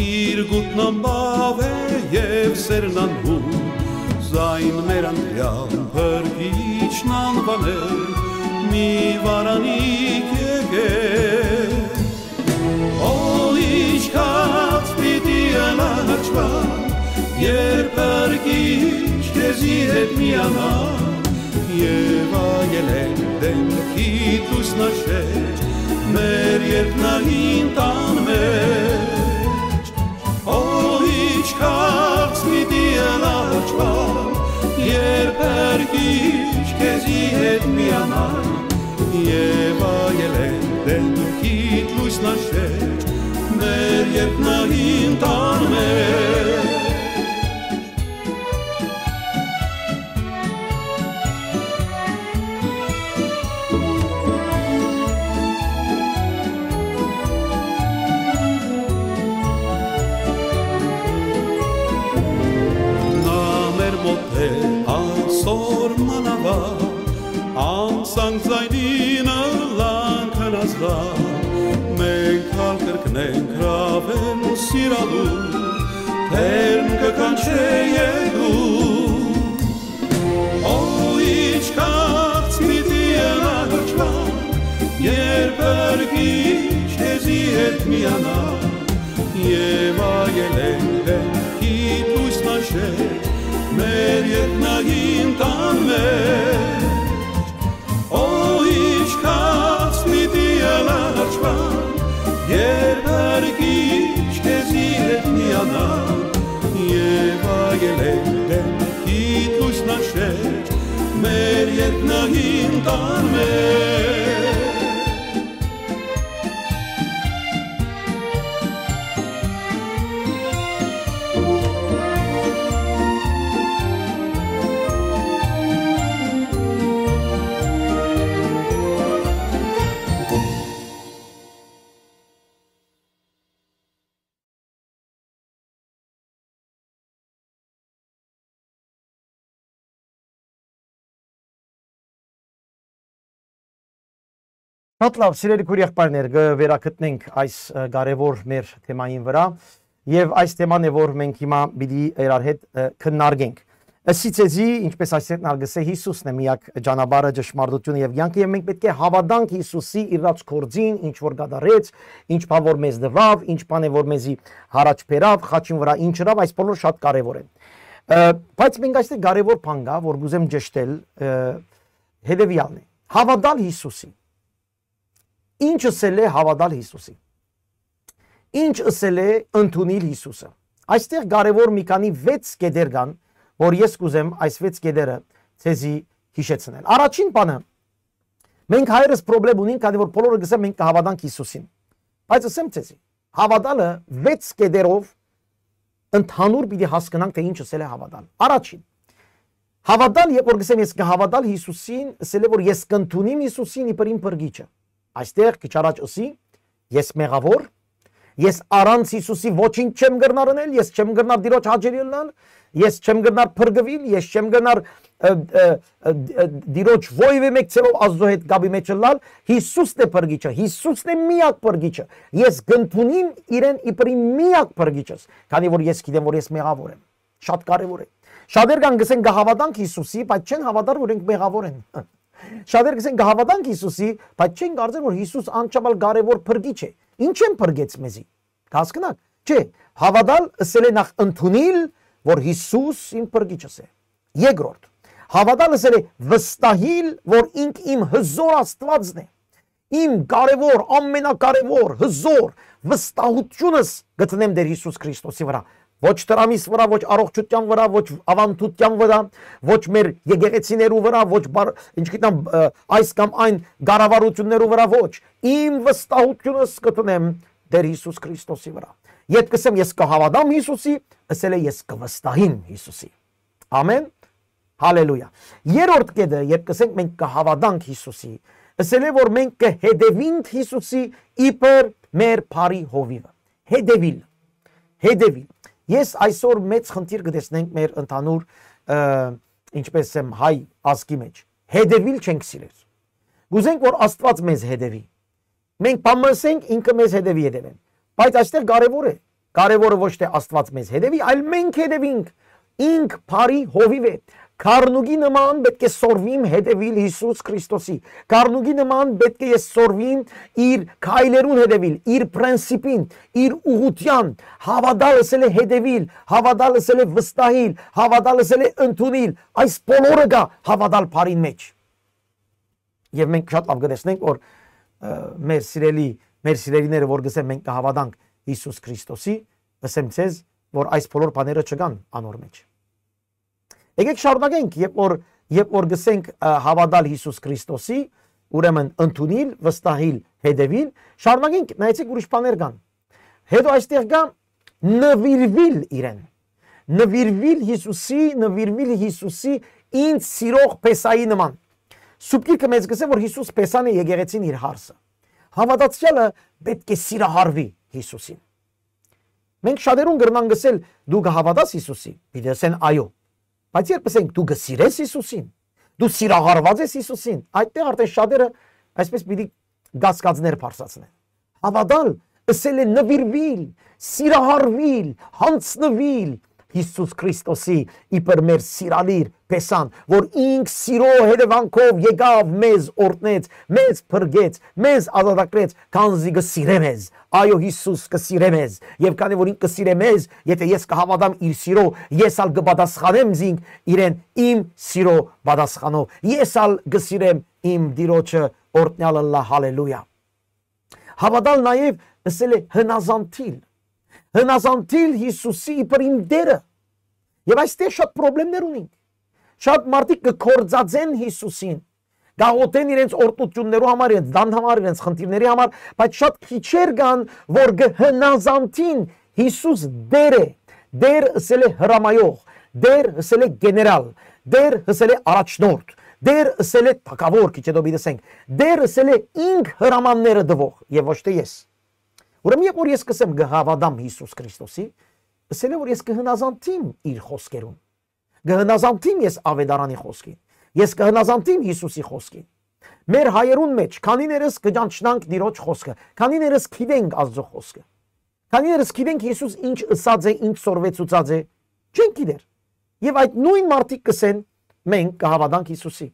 իր գութն անբաւ է եւ սերն անհուն, զայն մեր անդրեալ Փրկիչն անուանէ, մի վարանիք եկէ։ Օ, ինչքան պիտի ըլլայ հաճախ, երբ Փրկիչ քեզի հետ միանայ, եւ այլեն դէմքիդ լուսնաշէջ, մեր երկնային տան մէջ։ Օ, ինչքան պիտի ըլլայ հաճախ, երբ Փրկիչ քեզի հետ միանայ, եւ այլեն դէմքիդ լուսնաշէջ, մեր երկնային տան մէջ։ Նա մեր մօտ է այսօր մանաւա, անսանկ զայնին ըլլանք հնազանդակ, մենք ալ կրկնենք ռաւեն սիրալու, թերն կը կանչէ եկու։ Օ, ինչքան պիտի ըլլայ հաճախ, երբ Փրկիչ քեզի հետ միանայ, եւ այլեն դէմքիդ լուսնաշէջ, մեր երկնային տան մէջ։ Օ, ինչքան պիտի ըլլայ հաճախ, երբ Փրկիչ քեզի հետ միանայ, եւ այլեն դէմքիդ լուսնաշէջ, մեր երկնային տան մէջ։ Շատ լաւ, սիրելի քուր եղբայրներ, կը վերագտնենք այս, ը, կարեւոր մեր թեմային վրայ, եւ այս թեման է, որ մենք հիմա պիտի իրար հետ, ը, քննարկենք։ Ըսի ձեզի, ինչպես այսինքն ալ կ'ըսէ, Յիսուսն է միակ ճանապարհը, ճշմարտությունը եւ կեանքը, եւ մենք պէտք է հաւատանք Յիսուսի իրաց գործին, ինչ որ կատարեց, ինչ բան որ մեզ տուաւ, ինչ բան է որ մեզի յառաջ բերաւ, խաչին վրայ ինչ ըրաւ, այս բոլոր շատ կարեւոր են։ Ը, բայց մենք այստեղ կարեւոր բան կայ, որ կ'ուզեմ ճշտել, ը, հետեւեալն է։ Հաւատալ Յիսուսի։ Ինչ ըսել է հաւատալ Յիսուսի։ Ինչ ըսել է ընդունիլ Յիսուսը։ Այստեղ կարեւոր մի քանի վեց կետեր կան, որ ես կ'ուզեմ այս վեց կետերը ձեզի յիշեցնել։ Առաջին բանը, մենք հայերս պրոբլեմ ունենք, քանի որ բոլորը կ'ըսեն, մենք կը հաւատանք Յիսուսին։ Բայց ըսեմ ձեզի, հաւատալը վեց կետերով ընդհանուր պիտի հասկնանք, թե ինչ ըսել է հաւատալ։ Առաջին, հաւատալ, երբ որ կ'ըսեմ, ես կը հաւատալ Յիսուսին, ըսել է, որ ես կ'ընդունիմ Յիսուսին իբր իմ փրկիչը։ Այստեղ քիչ առաջ ըսի, ես մեղաւոր, ես առանց Յիսուսի ոչինչ չեմ կրնար ընել, ես չեմ կրնար Տիրոջ հաճելի ըլլալ, ես չեմ կրնար փրկուիլ, ես չեմ կրնար, ը, ը, ը, ը, Տիրոջ որեւէ մեկցելով Աստծո հետ կապի մեջ ըլլալ, Յիսուսն է փրկիչը, Յիսուսն է միակ փրկիչը։ Ես կ'ընդունիմ իրեն իբր իմ միակ փրկիչս, քանի որ ես գիտեմ, որ ես մեղաւոր եմ։ Շատ կարեւոր է։ Շատեր կան կ'ըսեն, կը հաւատանք Յիսուսի, բայց չեն հաւատար, որ իրենք մեղաւոր են։ Շատեր կ'ըսեն, կը հաւատանք Յիսուսի, բայց չեն կարծեր, որ Յիսուս անչափ ալ կարեւոր փրկիչ է։ Ինչէն փրկեց մեզի։ Կ'հասկնաք։ Չէ, հաւատալ ըսել է նախ ընդունիլ, որ Յիսուս իմ փրկիչս է։ Երկրորդ, հաւատալ ըսել է վստահիլ, որ ինք իմ հզոր Աստուածն է, իմ կարեւոր, ամենակարեւոր, հզոր վստահությունս գտնեմ Տէր Յիսուս Քրիստոսի վրայ։ Ոչ դրամիս վրայ, ոչ առողջութեան վրայ, ոչ աւանդութեան վրայ, ոչ մեր եկեղեցիներու վրայ, ոչ բար-, ինչ գիտեմ, ը, այս կամ այն կառավարութիւններու վրայ, ոչ։ Իմ վստահությունս գտնեմ Տէր Յիսուս Քրիստոսի վրայ։ Երբ կ'ըսեմ, «Ես կը հաւատամ Յիսուսի», ըսել է, «Ես կը վստահիմ Յիսուսի»։ Ամեն։ Հալելույա։ Երրորդ կետը, երբ կ'ըսենք, «Մենք կը հաւատանք Յիսուսի», ըսել է, որ մենք կը հետեւինք Յիսուսի իբր մեր բարի հովիւը։ Հետեւիլ։ Հետեւիլ։ Ես այսօր մեծ խնդիր կը տեսնենք մեր ընդհանուր, ը, ինչպես եմ, հայ ազգի մեջ։ Հետեւիլ չենք սիրեր։ Կ'ուզենք, որ Աստուած մեզ հետեւի։ Մենք բան մը ասենք, ինքը մեզ հետեւի, հետեւեն։ Բայց այստեղ կարեւոր է։ Կարեւորը ոչ թե Աստուած մեզ հետեւի, այլ մենք հետեւինք։ Ինք բարի հովիւ է։ Քառնուկի նման պէտք է սորվիմ հետեւիլ Յիսուս Քրիստոսի։ Քառնուկի նման պէտք է ես սորվիմ իր քայլերուն հետեւիլ, իր պրենսիպին, իր ուղղութեան։ Հաւատալ ըսել է հետեւիլ, հաւատալ ըսել է վստահիլ, հաւատալ ըսել է ընդունիլ։ Այս բոլորը կայ հաւատալ բարին մեջ։ Եւ մենք շատ լաւ կը տեսնենք, որ, ը, մեր սիրելի, մեր սիրելիները, որ կ'ըսեն, «Մենք կը հաւատանք Յիսուս Քրիստոսի», ըսեմ ձեզ, որ այս բոլոր բաները չկան անոր մեջ։ Եկեք շարունակենք, երբ որ, երբ որ կ'ըսենք, ը, հաւատալ Յիսուս Քրիստոսի, ուրեմն ընդունիլ, վստահիլ, հետեւիլ, շարունակենք, նայեցեք, ուրիշ բաներ կան։ Հետո այստեղ կայ նուիրուիլ իրեն։ Նուիրուիլ Յիսուսի, նուիրուիլ Յիսուսի ինձ սիրող Պեսայի նման։ Սուրբ Գիրքը մեզ կ'ըսէ, որ Յիսուս Պեսան է, եկեղեցին իր հարսը։ Հաւատացեալը պէտք է սիրահարուի Յիսուսին։ Մենք շատերուն կրնանք ըսել, «Դու կը հաւատա՞ս Յիսուսի»։ Պիտի ըսեն, «Այո»։ Բայց երբ ըսենք, «Դու կը սիրե՞ս Յիսուսին»։ «Դու սիրահարուած ես Յիսուսին»։ Այդտեղ արդեն շատերը այսպես պիտի կասկածներ բարձրացնեն։ Հաւատալ ըսել է նուիրուիլ, սիրահարուիլ, յանձնուիլ Յիսուս Քրիստոսի իբր մեր սիրալիր Պեսան, որ ինք սիրո հետեւանքով եկաւ, մեզ օրհնեց, մեզ փրկեց, մեզ ազատագրեց, քանզի կը սիրէ մեզ։ Այո, Յիսուս կը սիրէ մեզ, եւ քանի որ ինք կը սիրէ մեզ, եթե ես կը հաւատամ իր սիրո, ես ալ կը պատասխանեմ զինք իրեն իմ սիրո պատասխանով։ Ես ալ կը սիրեմ իմ Տիրոջը, օրհնեալ ըլլայ, հալելույա։ Հաւատալ նաեւ ըսել է հնազանդիլ։ Հնազանդիլ Յիսուսի իբր իմ Տէրը։ Եւ այստեղ շատ պրոբլեմներ ունենք։ Շատ մարդիկ կը կործածեն Յիսուսին, կաղոթեն իրենց օրհնություններու համար, իրենց դան համար, իրենց խնդիրների համար, բայց շատ քիչեր կան, որ կը հնազանդին Յիսուս Տէր է, Տէր ըսել է հրամայող, Տէր ըսել է գեներալ, Տէր ըսել է առաջնորդ, Տէր ըսել է թագաւոր, քիչ հետո պիտի ասենք, Տէր ըսել է ինք հրամանները տուող եւ ոչ թե ես։ Ուրեմն երբ որ ես կ'ըսեմ, «Կը հաւատամ Յիսուս Քրիստոսի», ըսել է, որ ես կը հնազանդիմ իր խօսքերուն։ Կը հնազանդիմ ես Աւետարանի խօսքին։ Ես կը հնազանդիմ Յիսուսի խօսքին։ Մեր հայերուն մեջ քանիներս կը ճանչնանք Տիրոջ խօսքը, քանիներս գիտենք Աստուծոյ խօսքը, քանիներս գիտենք Յիսուս ինչ ըսած է, ինչ սորվեցուցած է, չենք գիտեր։ Եւ այդ նոյն մարդիկ կ'ըսեն, «Մենք կը հաւատանք Յիսուսի»։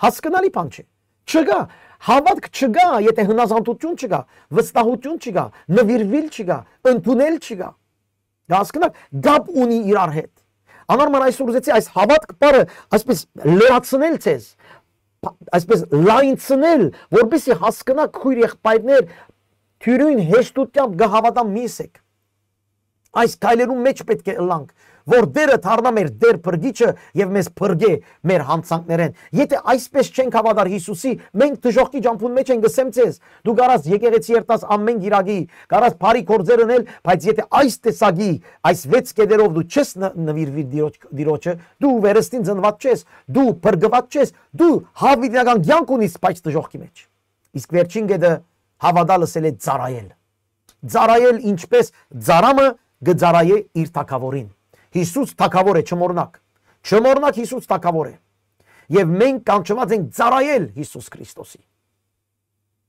Հասկնալի բան չէ։ Չկայ, հաւատք չկայ, եթե հնազանդություն չկայ, վստահություն չկայ, նուիրուիլ չկայ, ընդունել չկայ։ Կը հասկնաք, կապ ունի իրար հետ։ Անոր համար այսօր ուզեցի այս հաւատք բառը այսպես լրացնել ձեզ, փա-, այսպես լայնցնել, որպեսզի հասկնաք, քոյր եղբայրներ, թիւրին հեշտությամբ կը հաւատամ, մի ըսեք։ Այս քայլերուն մեջ պէտք է ըլլանք, որ Տէրը դառնայ մեր Տէր փրկիչը եւ մեզ փրկէ մեր յանցանքներէն։ Եթե այսպես չենք հաւատար Յիսուսի, մենք դժոխքի ճամբուն մեջ ենք, կ'ըսեմ ձեզ, դու կարաս եկեղեցի երթաս ամէն կիրակի, կարաս բարի գործեր ընել, բայց եթե այս տեսակի, այս վեց կետերով դու չես ն-, նուիրուիր Տիրոջ-, Տիրոջը, դու վերստին ծնուած չես, դու փրկուած չես, դու հավիտենական կեանք ունիս, բայց դժոխքի մեջ։ Իսկ վերջին կետը, հաւատալ ըսել է ծառայել։ Ծառայել, ինչպես ծառամը կը ծառայէ իր թագաւորին։ Յիսուս թագաւոր է, չմոռնաք։ Չմոռնաք, Յիսուս թագաւոր է։ Եւ մենք կանչուած ենք ծառայել Յիսուս Քրիստոսի։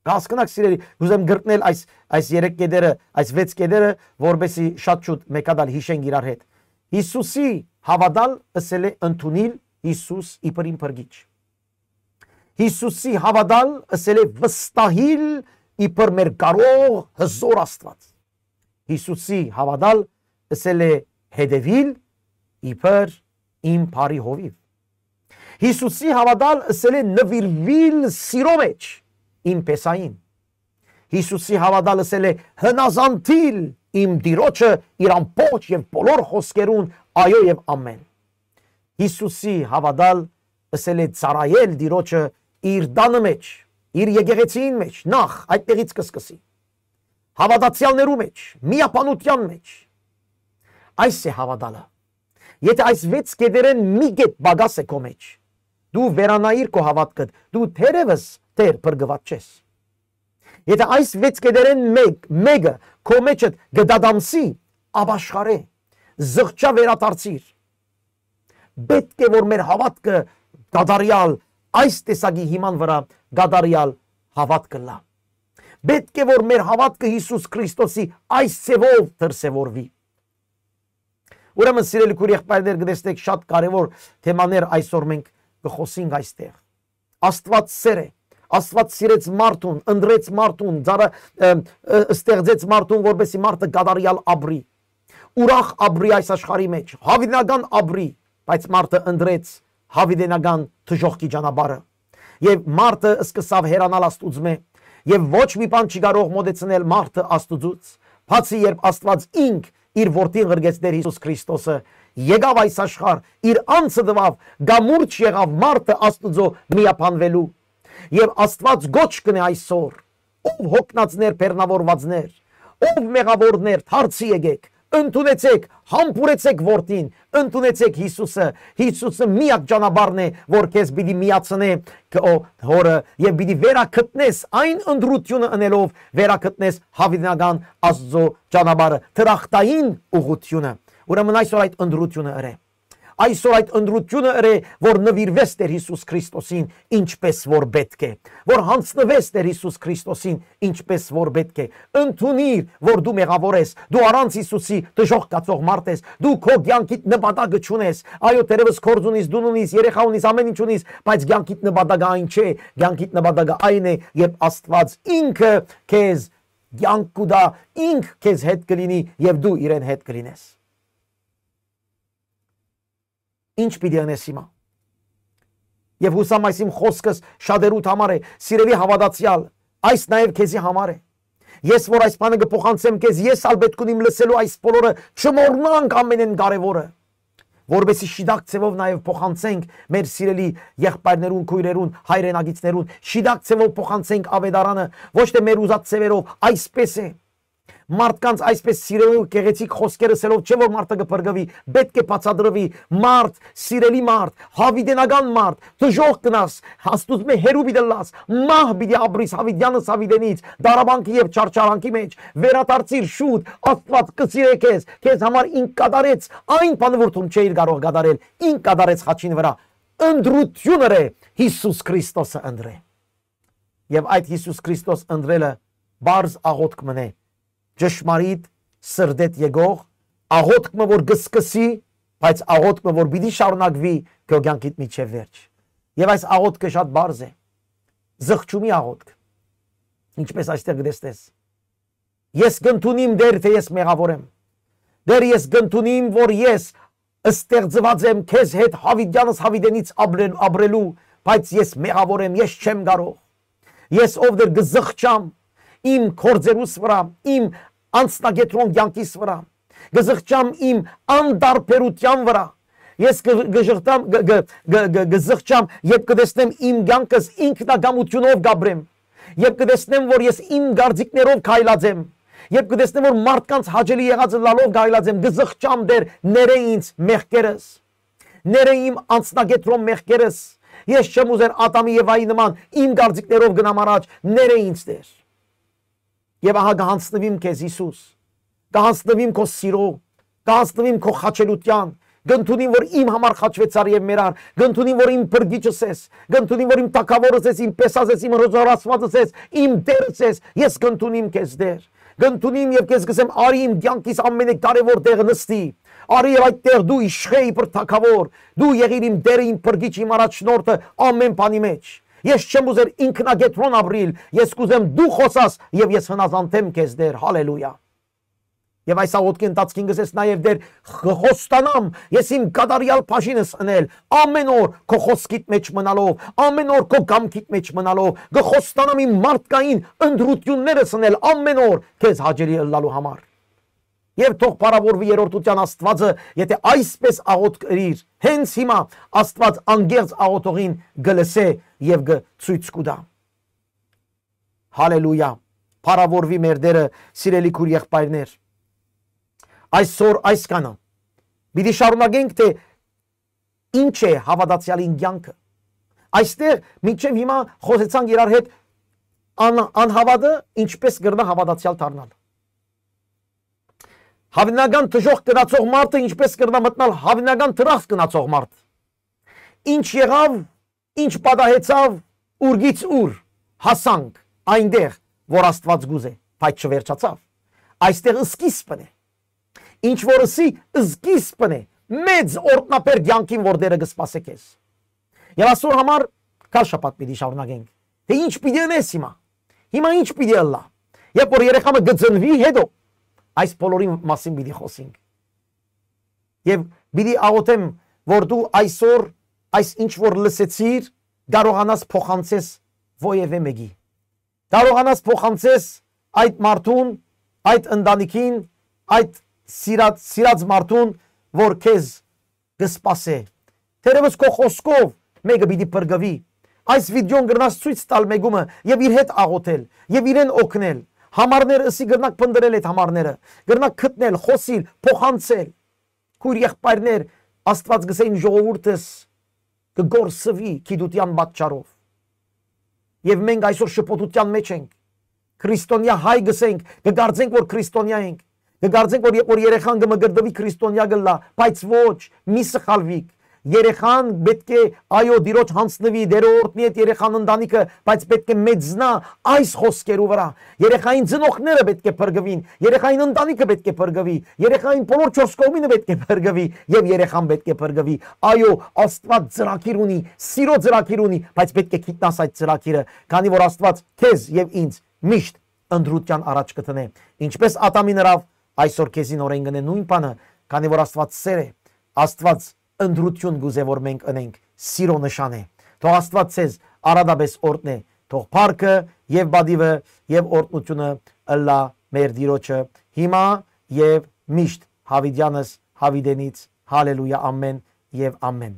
Կ'հասկնաք, սիրելի, կ'ուզեմ կրկնել այս, այս երեք կետերը, այս վեց կետերը, որպեսզի շատ շուտ մէկ հատ ալ յիշենք իրար հետ։ Յիսուսի հաւատալ ըսել է ընդունիլ Յիսուս իբր իմ փրկիչ։ Յիսուսի հաւատալ ըսել է վստահիլ իբր մեր կարող հզոր Աստուած։ Յիսուսի հաւատալ ըսել է հետեւիլ իբր իմ բարի հովիւ։ Յիսուսի հաւատալ ըսել է նուիրուիլ սիրո մէջ իմ փեսային։ Յիսուսի հաւատալ ըսել է հնազանդիլ իմ Տիրոջը իր ամբողջ եւ բոլոր խօսքերուն, այո եւ ամէն։ Յիսուսի հաւատալ ըսել է ծառայել Տիրոջը իր տանը մէջ, իր եկեղեցիին մէջ, նախ այդտեղից կը սկսի։ Հաւատացեալներու մէջ, միաբանութեան մէջ։ Այս է հաւատալը։ Եթէ այս վեց կետերէն մի կետ պակաս է քո մէջ, դու վերանայիր քո հաւատքդ, դու թերեւս Տէր փրկուած չես։ Եթէ այս վեց կետերէն մէկ, մէկը քո մէջդ կը դատամսի, ապաշխարէ, զղջա, վերադարձիր։ Պէտք է որ մեր հաւատքը կատարեալ այս տեսակի հիման վրայ կատարեալ հաւատք ըլլայ։ Պէտք է որ մեր հաւատքը Յիսուս Քրիստոսի այս ձեւով դրսեւորուի։ Ուրեմն, սիրելի քուր եղբայրներ, կտեսնէք, շատ կարեւոր թեմաներ այսօր մենք կը խօսենք այստեղ։ Աստուած սէր է։ Աստուած սիրեց մարդուն, ընտրեց մարդուն, ծառա-, ը, ը, ստեղծեց մարդուն, որպեսզի մարդը կատարեալ ապրի, ուրախ ապրի այս աշխարհի մէջ, յաւիտենական ապրի, բայց մարդը ընտրեց յաւիտենական դժոխքի ճանապարհը։ Եւ մարդը սկսաւ հեռանալ Աստուծմէ, եւ ոչ մի բան չի կարող մոտեցնել մարդը Աստուծուց, բացի երբ Աստուած ինք իր որդին ղրկեց Տէր Յիսուս Քրիստոսը, եկաւ այս աշխարհ, իր անձը տուաւ, կամուրջ եղաւ մարդը Աստուծոյ միաբանուելու։ Եւ Աստուած գոչ կ'ընէ այսօր, ով յոգնածներ, բեռնաւորուածներ, ով մեղաւորներ, դարձի եկէք, ընդունեցէք, համբուրեցէք որդին, ընդունեցէք Յիսուսը։ Յիսուսը միակ ճանապարհն է, որ քեզ պիտի միացնէ քո հորը եւ պիտի վերագտնես այն ընտրութիւնը ընելով, վերագտնես յաւիտենական Աստուծոյ ճանապարհը, դրախտային ուղղութիւնը։ Ուրեմն այսօր այդ ընտրութիւնը ըրէ։ Այսօր այդ ընտրութիւնը ըրէ, որ նուիրուես Տէր Յիսուս Քրիստոսին ինչպես որ պէտք է, որ յանձնուես Տէր Յիսուս Քրիստոսին ինչպես որ պէտք է։ Ընդունիր, որ դու մեղաւոր ես, դու առանց Յիսուսի դժոխք գացող մարդ ես, դու քո կեանքիդ նպատակը չունես, այո, թերեւս գործ ունիս, տուն ունիս, երեխա ունիս, ամէն ինչ ունիս, բայց կեանքիդ նպատակը այն չէ, կեանքիդ նպատակը այն է, երբ Աստուած ինքը քեզ կեանք կու տայ, ինք քեզ հետ կը լինի եւ դու իրեն հետ կը լինես։ Ինչ պիտի ընես հիմա։ Եւ յուսամ այս իմ խօսքս շատերուդ համար է, սիրելի հաւատացեալ, այս նաեւ քեզի համար է։ Ես որ այս բանը կը փոխանցեմ քեզ, ես ալ պէտք ունիմ լսելու այս բոլորը, չմոռնանք ամենէն կարեւորը, որպեսզի շիտակ ձեւով նաեւ փոխանցենք մեր սիրելի եղբայրներուն, քոյրերուն, հայրենակիցներուն, շիտակ ձեւով փոխանցենք աւետարանը, ոչ թէ մեր ուզած ձեւերով, այսպես է։ Մարդկանց այսպես սիրելու գեղեցիկ խօսքեր ըսելով չէ որ մարդը կը փրկուի, պէտք է բացատրուի, մարդ, սիրելի մարդ, յաւիտենական մարդ, դժոխք կ'ընաս, Աստուծմէ հեռու պիտի ըլլաս, մահ պիտի ապրիս յաւիտեանս յաւիտենից, դարաբանքի եւ չարչարանքի մէջ, վերադարձիր շուտ, Աստուած կը սիրէ քեզ, քեզ համար ինք կատարեց այն բանը, որ դուն չէիր կարող կատարել, ինք կատարեց խաչին վրայ, ընտրութիւն ըրէ Յիսուս Քրիստոսը ընտրէ։ Եւ այդ Յիսուս Քրիստոս ընտրելը պարզ աղօթք մըն է, ճշմարիտ սրտէդ եկող աղօթք մը, որ կը սկսի, բայց աղօթք մը, որ պիտի շարունակուի քո կեանքիդ միջև վերջ։ Եւ այս աղօթքը շատ պարզ է, զղջումի աղօթք, ինչպես այստեղ կտեսնես։ Ես կ'ընդունիմ, Տէր, թէ ես մեղաւոր եմ։ Տէր, ես կ'ընդունիմ, որ ես ստեղծուած եմ քեզ հետ յաւիտեանս յաւիտենից ապրել-, ապրելու, բայց ես մեղաւոր եմ, ես չեմ կարող։ Ես, ով Տէր, կը զղջամ իմ գործերուս վրայ, իմ անձնակեդրոն կեանքիս վրայ, կը զղջամ իմ անդարբերութեան վրայ։ Ես կը, կը ժղթամ, կը, կը, կը, կը, կը զղջամ, երբ կը տեսնեմ իմ կեանքս ինքնակամութիւնով կ'ապրեմ, երբ կը տեսնեմ, որ ես իմ կարծիքներով քայլած եմ, երբ կը տեսնեմ, որ մարդկանց հաճելի եղածը լալով քայլած եմ, կը զղջամ, Տէր, ներէ ինձ մեղքերս, ներէ իմ անձնակեդրոն մեղքերս։ Ես չեմ ուզեր Ադամի Եվայի նման իմ կարծիքներով գնամ առաջ, ներէ ինձ, Տէր։ Եւ ահա կը յանձնուիմ քեզ, Յիսուս, կը յանձնուիմ քո սիրո, կը յանձնուիմ քո խաչելութեան, կ'ընդունիմ, որ իմ համար խաչուեցար եւ մեռար, կ'ընդունիմ, որ իմ փրկիչս ես, կ'ընդունիմ, որ իմ թագաւորս ես, իմ փեսաս ես, իմ հրոզորացուածս ես, իմ Տերս ես, ես կ'ընդունիմ քեզ, Տէր։ Կ'ընդունիմ եւ քեզ կ'ըսեմ, արի իմ կեանքիս ամենակարեւոր տեղը նստի, արի եւ այդտեղ դու իշխե իբր թագաւոր, դու եղիր իմ Տերը, իմ փրկիչը, իմ առաջնորդը ամեն բանի մէջ։ Ես չեմ ուզեր ինքնակեդրոն ապրիլ, ես կ'ուզեմ դու խօսաս եւ ես հնազանդեմ քեզ, Տէր, հալելույա։ Եւ այս աղօթքի ընթացքին կ'ըսես նաեւ. «Տէր, կը խոստանամ ես իմ կատարեալ բաժինս ընել, ամէն օր քո խօսքիդ մէջ մնալով, ամէն օր քո կամքիդ մէջ մնալով, կը խոստանամ իմ մարդկային ընտրութիւններս ընել ամէն օր քեզ հաճելի ըլլալու համար»։ Եւ թող փառաւորուի երրորդութեան Աստուածը, եթէ այսպէս աղօթք ըրիր, հենց հիմա Աստուած անկեղծ աղօթողին կը լսէ եւ կը ցոյց կու տայ։ Հալելույա։ Փառաւորուի մեր Տէրը, սիրելի քուր եղբայրներ։ Այսօր այսքանը։ Պիտի շարունակենք, թէ ինչ է հաւատացեալին կեանքը։ Այստեղ մինչեւ հիմա խօսեցանք իրար հետ ան-, անհաւատը ինչպէս կրնայ հաւատացեալ դառնալ։ Հավնական դժոխք գնացող մարդը ինչպէս կրնայ մտնալ հավնական դրախտ գնացող մարդ։ Ինչ եղաւ, ինչ պատահեցաւ, ուրկից ուր հասանք, այնտեղ, որ Աստուած կ'ուզէ, բայց չվերջացաւ։ Այստեղ սկիզբն է։ Ինչ որ ըսի, սկիզբն է մեծ օրհնաբեր կեանքին, որ Տէրը կը սպասէ քեզ։ Եւ այսօր համար քար շաբաթ պիտի շարունակենք, թէ ինչ պիտի ընես հիմա։ Հիմա ինչ պիտի ըլլայ։ Երբ որ երեխան մը կը ծնուի, հետո այս բոլորին մասին պիտի խօսենք։ Եւ պիտի աղօթեմ, որ դու այսօր այս ինչ որ լսեցիր, կարողանաս փոխանցես որեւէ մեկի։ Կարողանաս փոխանցես այդ մարդուն, այդ ընտանիքին, այդ սիրած, սիրած մարդուն, որ քեզ կը սպասէ։ Թերեւս քո խօսքով մէկը պիտի փրկուի։ Այս վիդեոն կրնաս ցոյց տալ մէկումը եւ իր հետ աղօթել եւ իրեն օգնել։ Համարներ ըսի, կրնաք փնտռել այդ համարները, կրնաք գտնել, խօսիլ, փոխանցել։ Քուր եղբայրներ, Աստուած կ'ըսէ. «Իմ ժողովուրդս կը կորսուի գիտութեան պատճառով»։ Եւ մենք այսօր շփոթութեան մէջ ենք։ Քրիստոնեայ հայ կ'ըսենք, կը կարծենք, որ քրիստոնեայ ենք, կը կարծենք, որ, որ երեխան կը մկրտուի, քրիստոնեայ կ'ըլլայ, բայց ոչ, մի սխալուիք։ Երեխան պէտք է, այո, Տիրոջ յանձնուի, Տէրը օրհնի այդ երեխան, ընտանիքը, բայց պէտք է մեծնայ այս խօսքերու վրայ։ Երեխային ծնողները պէտք է փրկուին, երեխային ընտանիքը պէտք է փրկուի, երեխային բոլոր չորս կողմինը պէտք է փրկուի եւ երեխան պէտք է փրկուի։ Այո, Աստուած ծրագիր ունի, սիրո ծրագիր ունի, բայց պէտք է գիտնաս այդ ծրագիրը, քանի որ Աստուած քեզ եւ ինձ միշտ ընտրութեան առաջ կը դնէ։ Ինչպէս Ադամին ըրաւ, այսօր քեզի նորէն կ'ընէ նոյն բանը, քանի որ Աստուած սէր է, Աստուած ընտրութիւն կ'ուզէ որ մենք ընենք, սիրո նշան է։ Թող Աստուած ձեզ արատապէս օրհնէ, թող փառքը եւ պատիւը եւ օրհնութիւնը ըլլայ մեր Տիրոջը, հիմա եւ միշտ, յաւիտեանս յաւիտենից։ Հալելույա, ամէն եւ ամէն։